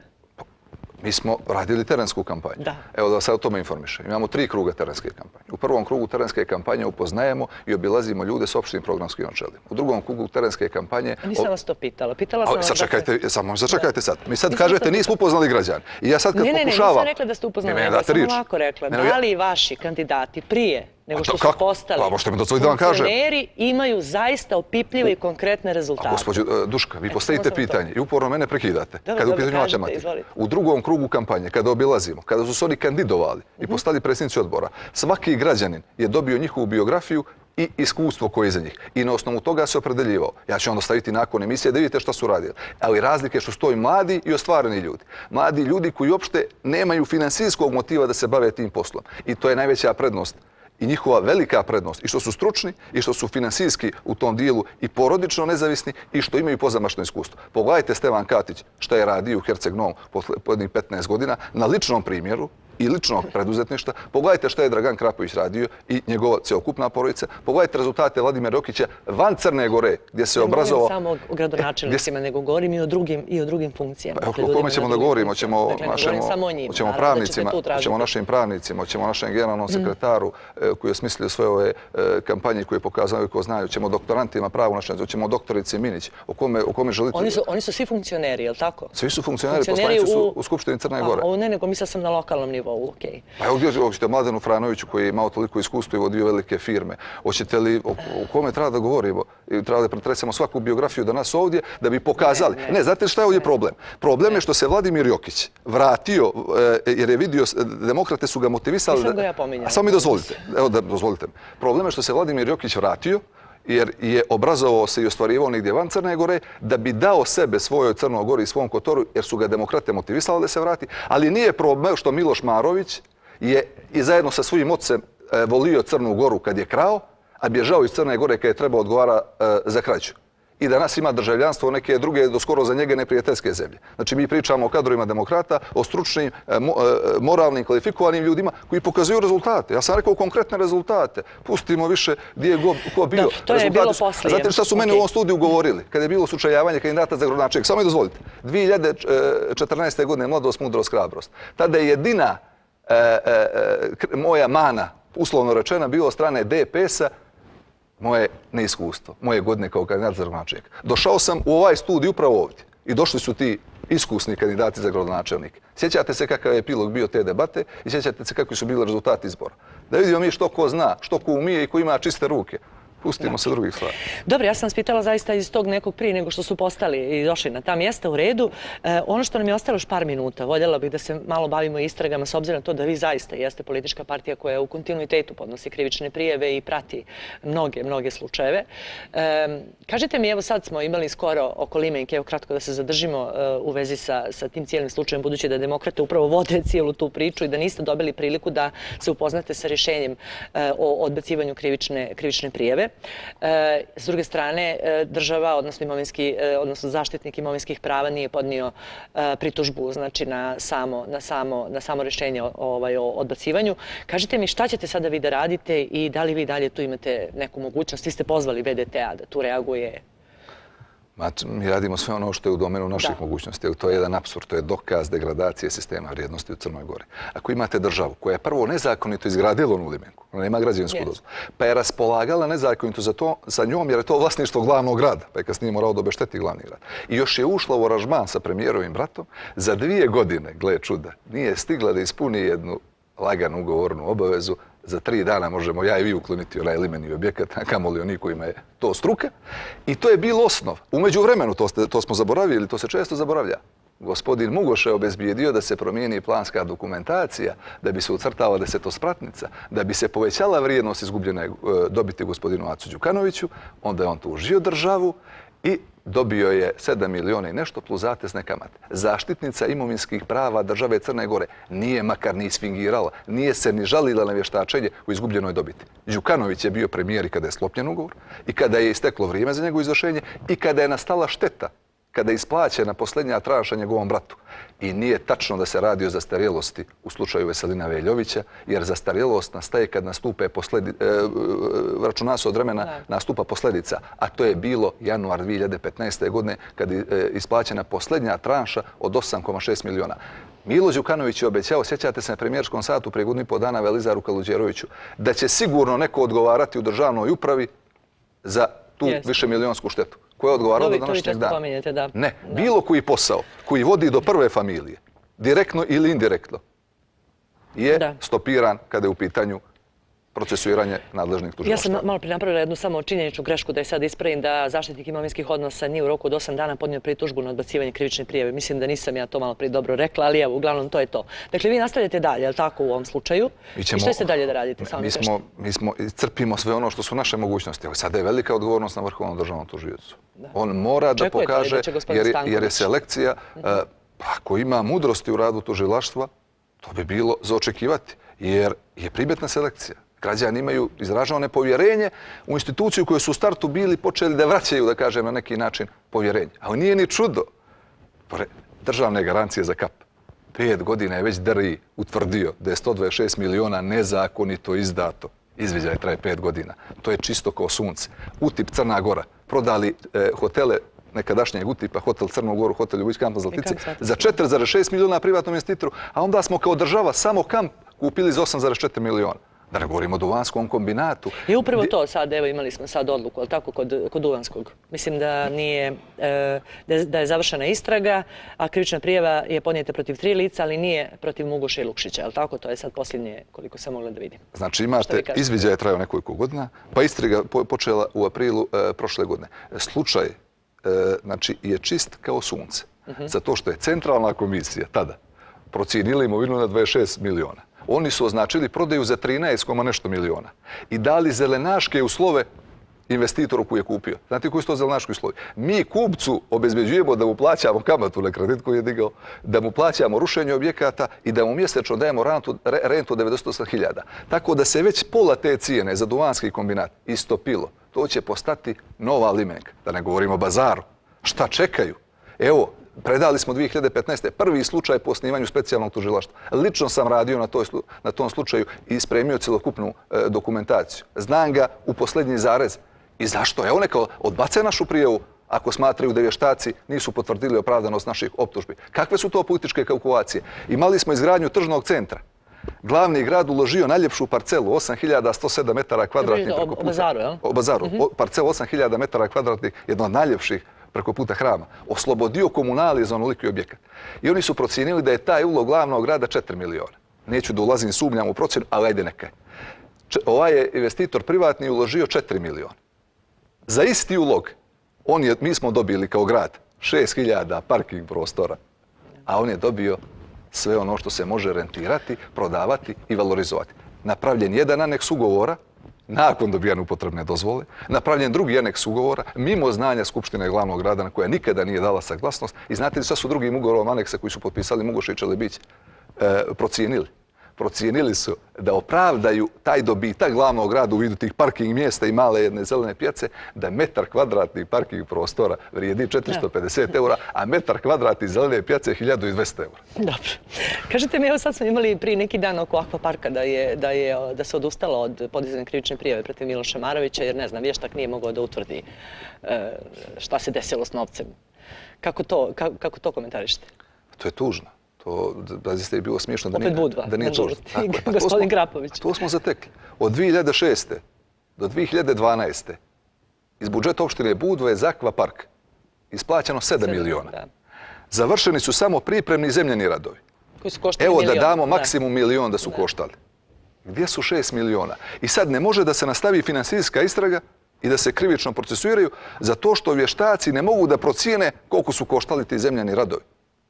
Mi smo radili terensku kampanju. Da. Evo da vas o tome informišem. Imamo tri kruga terenske kampanje. U prvom krugu terenske kampanje upoznajemo i obilazimo ljude s opštim programskim načelima. U drugom krugu terenske kampanje... Nisam vas to pitala. Pitala sam vas... Sačekajte, samo začekajte sad. Mi sad kažete nismo upoznali građani. I ja sad kad pokušavam... Ne, ne, nisam rekla da ste upoznali. Ja sam ovako rekla. Da li vaši kandidati prije nego što su postali funkcioneri imaju zaista opipljive i konkretne rezultate? Gospođo Duška, vi postavite pitanje i uporno mene prekidate. Kada u pitanju matematika. U drugom krugu kampanje, kada obilazimo, kada su se oni kandidovali i postali predsjednici odbora, svaki građanin je dobio njihovu biografiju i iskustvo koje je iza njih. I na osnovu toga se opredeljivao. Ja ću vam dostaviti nakon emisije da vidite šta su radili. Ali razlike što stoji mladi i ostvareni ljudi. Mladi ljudi koji uopšte nemaju finansijskog motiva da se bave tim poslom. I to je najveća prednost i njihova velika prednost, i što su stručni, i što su finansijski u tom dijelu i porodično nezavisni, i što imaju pozamašno iskustvo. Pogledajte Stevan Katić šta je radio u Herceg Novom posljednjih petnaest godina na ličnom primjeru i ličnog preduzetništva. Pogledajte šta je Dragan Krapović radio i njegova cjelokupna porodica. Pogledajte rezultate Vladimira Jokića van Crne Gore, gdje se obrazovao... Ne govorim samo o gradonačelnicima, nego govorim i o drugim, i o drugim funkcijama. O kome ćemo da govorimo? Ćemo o pravnicima, ćemo našim pravnicima, ćemo našem generalnom sekretaru koji je osmislio sve ove kampanje koje pokazaju ko znaju, ćemo doktorantima pravu našem, ćemo doktorici Minić. O kome želite... Oni su svi funkcioneri, je li tako? Svi su funkcioneri, poslanici su u Skupštini Crne Gore. Ne, nego mislila sam na lokalnom nivou. Pa evo gdje hoćete Mladenu Franoviću koji je imao toliko iskustva i vodio velike firme. Hoćete li, o kome treba da govorimo? Treba da pretresemo svaku biografiju danas ovdje da bi pokazali. Ne, znate šta je ovdje problem? Problem je što se Vladimir Jokić vratio jer je vidio, demokrate su ga motivisali... Nisam ga ja pominjala. A samo mi dozvolite. Evo da dozvolite. Problem je što se Vladimir Jokić vratio jer je obrazovao se i ostvarivao negdje van Crne Gore, da bi dao sebe svojoj Crnoj Gori i svom Kotoru, jer su ga demokrate motivisali da se vrati. Ali nije problem što Miloš Marović je i zajedno sa svojim ocem volio Crnu Goru kad je krao, a bježao iz Crne Gore kad je trebao odgovara za krađu. I danas ima državljanstvo neke druge, do skoro za njega neprijateljske zemlje. Znači, mi pričamo o kadrovima demokrata, o stručnim, moralnim, kvalifikovanim ljudima koji pokazuju rezultate. Ja sam rekao konkretne rezultate. Pustimo više gdje je ko bio. To je bilo poslije. Znate šta su meni u ovom studiju govorili? Kada je bilo sučeljavanje kandidata za gradonačelnika. Samo mi dozvolite. dvije hiljade četrnaeste. godine mladost, mudrost, hrabrost. Tada je jedina moja mana, uslovno rečena, bilo od strane D P S-a, moje neiskustvo, moje godine kao kandidat za gradonačelnika. Došao sam u ovaj studij upravo ovdje i došli su ti iskusni kandidati za gradonačelnika. Sjećate se kakav je epilog bio te debate i sjećate se kakvi su bili rezultati izbora. Da vidimo mi što ko zna, što ko umije i ko ima čiste ruke. Pustimo se drugih stvari. Dobro, ja sam vas pitala zaista iz tog nekog prije nego što su postali i došli na ta mjesta u redu. Ono što nam je ostalo još par minuta, voljela bih da se malo bavimo istragama s obzirom na to da vi zaista jeste politička partija koja u kontinuitetu podnosi krivične prijeve i prati mnoge, mnoge slučajeve. Kažite mi, evo sad smo imali skoro oko Limenke, evo kratko da se zadržimo u vezi sa, sa tim cijelim slučajem, budući da demokrate upravo vode cijelu tu priču i da niste dobili priliku da se upoznate sa rješenjem o odbacivanju krivične, krivične prijeve. S druge strane, država, odnosno imovinski, odnosno zaštitnik imovinskih prava nije podnio pritužbu, znači na samo, na samo, na samo rješenje ovaj, o odbacivanju. Kažite mi šta ćete sada vi da radite i da li vi dalje tu imate neku mogućnost? Vi ste pozvali V D T A da tu reaguje. Mi radimo sve ono što je u domenu naših mogućnosti. To je jedan apsurd, to je dokaz degradacije sistema vrijednosti u Crnoj Gori. Ako imate državu koja je prvo nezakonito izgradila onu Limenku, ona nema građevinsku dozvolu, pa je raspolagala nezakonito za, to, za njom jer je to vlasništvo glavnog grada, pa je kasnije morao da obešteti glavni grad. I još je ušla u aranžman sa premijerovim bratom, za dvije godine, gle čuda, nije stigla da ispuni jednu laganu ugovornu obavezu. Za tri dana možemo ja i vi ukloniti onaj limeni objekat, a kamoli oni kojima je to struka. I to je bilo osnov. Umeđu vremenu, to, ste, to smo zaboravili, to se često zaboravlja. Gospodin Mugoš je obezbijedio da se promijeni planska dokumentacija, da bi se ucrtala desetospratnica, da bi se povećala vrijednost izgubljene dobiti gospodinu Acu Đukanoviću, onda je on tužio državu i dobio je sedam miliona i nešto plus zatezne kamate. Zaštitnica imovinskih prava države Crne Gore nije makar ni isfingirala, nije se ni žalila na vještačenje u izgubljenoj dobiti. Đukanović je bio premijer i kada je sklopljen ugovor, i kada je isteklo vrijeme za njegovo izvršenje, i kada je nastala šteta, kada je isplaćena posljednja tranša njegovom bratu. I nije tačno da se radi o zastarjelosti u slučaju Veselina Veljovića, jer zastarjelost nastaje kad nastupe posledi, e, računa se od vremena nastupa posljedica, a to je bilo januar dvije hiljade petnaeste. godine kad je e, isplaćena posljednja tranša od osam zarez šest miliona. Milo Đukanović je obećao, sjećate se na premijerskom satu prije godinu i pol dana Velizaru Kaluđeroviću, da će sigurno neko odgovarati u državnoj upravi za tu yes. višemilijonsku štetu. Ko je odgovarao do današnjeg dana? Da. Ne, bilo koji posao koji vodi do prve familije, direktno ili indirektno, je da. stopiran kada je u pitanju procesuiranje nadležnih tužilaštva. Ja sam malo prije napravila jednu samo činjeničnu grešku da je sad ispravim da zaštitnik imovinskih odnosa nije u roku od osam dana podnio pritužbu na odbacivanje krivične prijave. Mislim da nisam ja to malo prije dobro rekla, ali evo, uglavnom to je to. Dakle, vi nastavljate dalje, je li tako u ovom slučaju? Ćemo, I što ste dalje da radite? Samo mi, smo, mi smo crpimo sve ono što su naše mogućnosti. Evo, sada je velika odgovornost na Vrhovnom državnom tužiocu. On mora da Čekujete pokaže, da jer, jer je selekcija, uh, ako ima mudrosti u radu tužilaštva, to bi bilo za očekivati, jer je primjetna selekcija. Građani imaju izraženo nepovjerenje u instituciju koju su u startu bili počeli da vraćaju, da kažem, na neki način povjerenje. Ali nije ni čudo. Državne garancije za kap. Pet godina je već D R I utvrdio da je sto dvadeset šest miliona nezakonito izdato. Izviđaj traje pet godina. To je čisto kao sunce. Utip Crna Gora. Prodali e, hotele nekadašnjeg utipa, hotel Crnu Goru, hotel Ljubić kamp na Zlatici, za četiri zarez šest miliona privatnom investitoru, a onda smo kao država samo kamp kupili za osam zarez četiri miliona. Da ne govorimo o Duvanskom kombinatu. I upravo to sad, evo imali smo sad odluku, ali tako, kod, kod Duvanskog. Mislim da nije, e, da je završena istraga, a krivična prijava je podnijeta protiv tri lica, ali nije protiv Mugoša i Lukšića, ali tako? To je sad posljednje koliko sam mogla da vidim. Znači imate, izviđaj je trajao nekoliko godina, pa istraga počela u aprilu e, prošle godine. Slučaj e, znači, je čist kao sunce. Uh-huh. Zato što je centralna komisija tada procijenila imovinu na dvadeset šest miliona. Oni su označili prodaju za trinaest nešto miliona i dali zelenaške uslove investitoru koji je kupio. Znate koji su to zelenaški uslovi? Mi kupcu obezbeđujemo da mu plaćamo kamatu na kredit koji je digao, da mu plaćamo rušenje objekata i da mu mjesečno dajemo rentu, rentu devedeset osam hiljada. Tako da se već pola te cijene za Duvanski kombinat istopilo. To će postati nova limenka. Da ne govorimo o bazaru. Šta čekaju? Evo, predali smo dvije hiljade petnaeste. prvi slučaj po osnivanju specijalnog tužilaštva. Lično sam radio na, toj, na tom slučaju i spremio celokupnu e, dokumentaciju. Znam ga u posljednji zarez. I zašto? Evo neka odbace našu prijavu ako smatraju da vještaci nisu potvrdili opravdanost naših optužbi. Kakve su to političke kalkulacije? Imali smo izgradnju tržnog centra. Glavni grad uložio najljepšu parcelu, osam hiljada sto sedam metara kvadratnih. O, o bazaru, jel? O bazaru. Mm-hmm. Parcelu osam hiljada metara kvadratnih, jedno od najljepših preko puta hrama. Oslobodio komunalije za onoliki objekat. I oni su procijenili da je taj ulog glavnog grada četiri miliona. Neću da ulazim, sumnjam u procjenu, ali ajde neka. Ovaj je investitor privatni uložio četiri miliona. Za isti ulog, on je, mi smo dobili kao grad šest hiljada parking prostora, a on je dobio sve ono što se može rentirati, prodavati i valorizovati. Napravljen jedan aneks ugovora, nakon dobijane upotrebne dozvole, napravljen drugi aneks ugovora, mimo znanja Skupštine glavnog grada na koja nikada nije dala saglasnost. I znate li šta su drugim ugovorom aneksa koji su potpisali Mugoša i Čelebić e, procijenili? Procijenili su da opravdaju taj dobitak glavnog grada u vidu tih parking mjesta i male jedne zelene pijace, da metar kvadratnih parking prostora vrijedi četiristo pedeset eura, a metar kvadratnih zelene pijace je hiljadu dvjesto eura. Dobro. Kažete mi, evo sad smo imali prije neki dan oko akvaparka da, je, da, je, da se odustalo od podizanja krivične prijave protiv Miloša Marovića, jer ne znam, vještak nije mogao da utvrdi e, šta se desilo s novcem. Kako to, kako, kako to komentarišete? To je tužno. To da ste bilo smiješno da nije, Budva, da nije tužno. Gospodin Krapović. To smo zatekli. Od dvije hiljade šeste do dvije hiljade dvanaeste iz budžeta opštine Budva je za akvapark isplaćeno sedam miliona. Da. Završeni su samo pripremni zemljeni radovi. Koji su koštali Evo milion. Da damo maksimum milion da su da. koštali. Gdje su šest miliona? I sad ne može da se nastavi finansijska istraga i da se krivično procesuiraju za to što vještaci ne mogu da procijene koliko su koštali ti zemljeni radovi.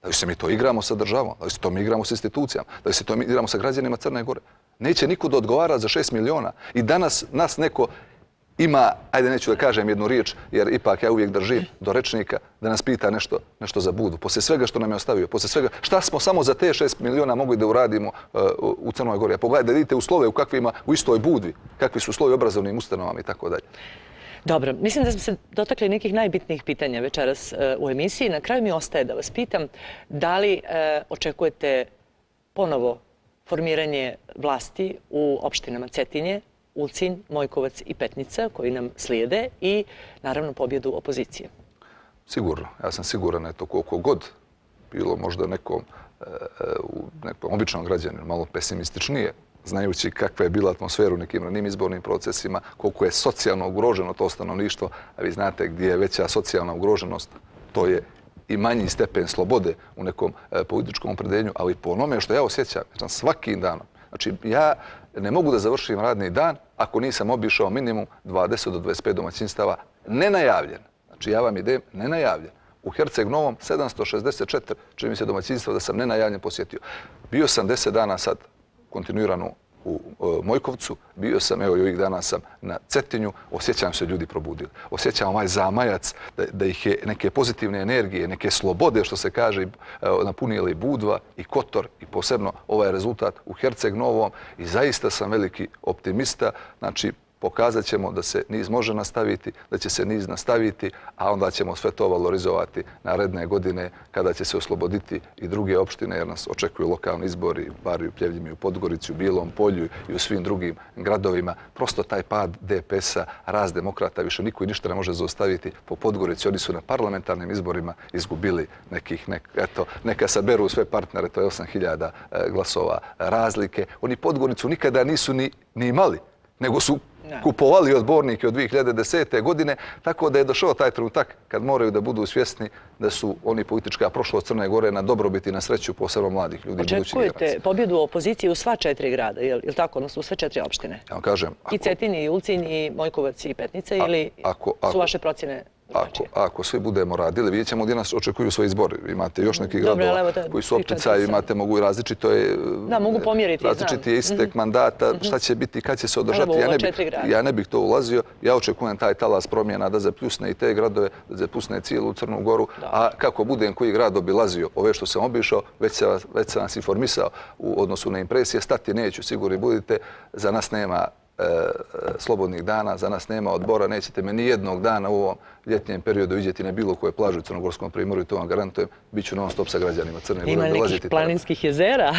Da li se mi to igramo sa državom, da li se to mi igramo sa institucijama, da li se to mi igramo sa građanima Crne Gore. Neće niko da odgovara za šest miliona. I danas nas neko ima, ajde neću da kažem jednu riječ, jer ipak ja uvijek držim do rečnika, da nas pita nešto, nešto za Budvu. Poslije svega što nam je ostavio, poslije svega šta smo samo za te šest miliona mogli da uradimo uh, u Crnoj Gori. A pogledajte, da vidite uslove u kakvima, u istoj Budvi, kakvi su uslovi obrazovnim ustanovama i tako dalje. Dobro, mislim da smo se dotakli nekih najbitnijih pitanja večeras u emisiji. Na kraju mi ostaje da vas pitam da li e, očekujete ponovo formiranje vlasti u opštinama Cetinje, Ulcinj, Mojkovac i Petnica koji nam slijede i naravno pobjedu opozicije. Sigurno. Ja sam siguran da je to koliko god bilo možda nekom, e, u nekom običnom građaninu malo pesimističnije, znajući kakva je bila atmosfera u nekim ranim izbornim procesima, koliko je socijalno ugroženo to stanovništvo, a vi znate gdje je veća socijalna ugroženost, to je i manji stepen slobode u nekom e, političkom opredeljenju, ali po onome što ja osjećam, ja svakim danom, znači ja ne mogu da završim radni dan ako nisam obišao minimum dvadeset do dvadeset pet domaćinstava nenajavljen. Znači ja vam idem nenajavljen. U Herceg Novom sedamsto šezdeset četiri, čini mi se domaćinstva da sam nenajavljen posjetio. Bio sam deset dana sad kontinuirano u Mojkovcu, bio sam, evo i ovih dana sam na Cetinju, osjećam se ljudi probudili. Osjećam ovaj zamajac da ih je neke pozitivne energije, neke slobode, što se kaže, napunili i Budva i Kotor i posebno ovaj rezultat u Herceg Novom i zaista sam veliki optimista. Znači, pokazat ćemo da se niz može nastaviti, da će se niz nastaviti, a onda ćemo sve to valorizovati naredne godine kada će se osloboditi i druge opštine, jer nas očekuju lokalni izbori, bar i u Pljevljima, i u Podgorici, u Bilom Polju i u svim drugim gradovima. Prosto taj pad D P S-a, rast demokrata, više niko i ništa ne može zaustaviti. Po Podgorici oni su na parlamentarnim izborima izgubili nekih, eto, neka saberu sve partnere, to je osam hiljada glasova razlike. Oni Podgoricu nikada nisu ni imali, nego su kupovali odbornike od dvije hiljade desete. godine, tako da je došao taj trenutak kad moraju da budu svjesni da su oni politička prošlost Crne Gore na dobrobit i na sreću posebno mladih ljudi. Očekujete pobjedu opozicije u sva četiri grada, je li tako? Odnosno u sve četiri opštine? Ja vam kažem... I Cetin, i Ulcinj, i Mojkovac, i Petnica, ili su vaše procjene drugačije? Ako svi budemo radili, vidjet ćemo gdje nas očekuju svoji izbori. Imate još neki gradova koji su opticaju, imate mogu i različito je... Da, mogu pomjeriti, znam. Različiti je istek mandata, šta će biti, kad će se održati. Ja ne bih to ulazio. Ja očekujem taj talas promjena da zapljusne i te gradove, da zapljusne cijelu Crnu Goru. A kako budem koji grad obilazio, ove što sam obišao, već sam vas informisao u odnosu na impresije, stati neću, sigurni budite, za nas nema slobodnih dana, za nas nema odbora, nećete me ni jednog dana u ovom ljetnjem periodu vidjeti na bilo koje plaže u Crnogorskom primorju i to vam garantujem, bit ću non stop sa građanima Crne Gore. Ima nekih planinskih jezera?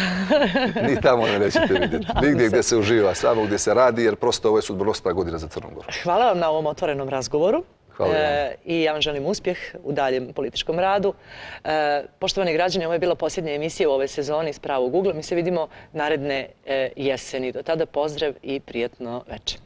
Ni tamo ne nećete vidjeti. Nigdje gdje se uživa, samo gdje se radi, jer prosto ovo je sudbonosna godina za Crnu Goru. Hvala vam na ovom otvorenom razgovoru. I ja vam želim uspjeh u daljem političkom radu. Poštovani građani, ovo je bila posljednja emisija u ovoj sezoni iz Pravog ugla. Mi se vidimo naredne jeseni. Do tada pozdrav i prijatno večer.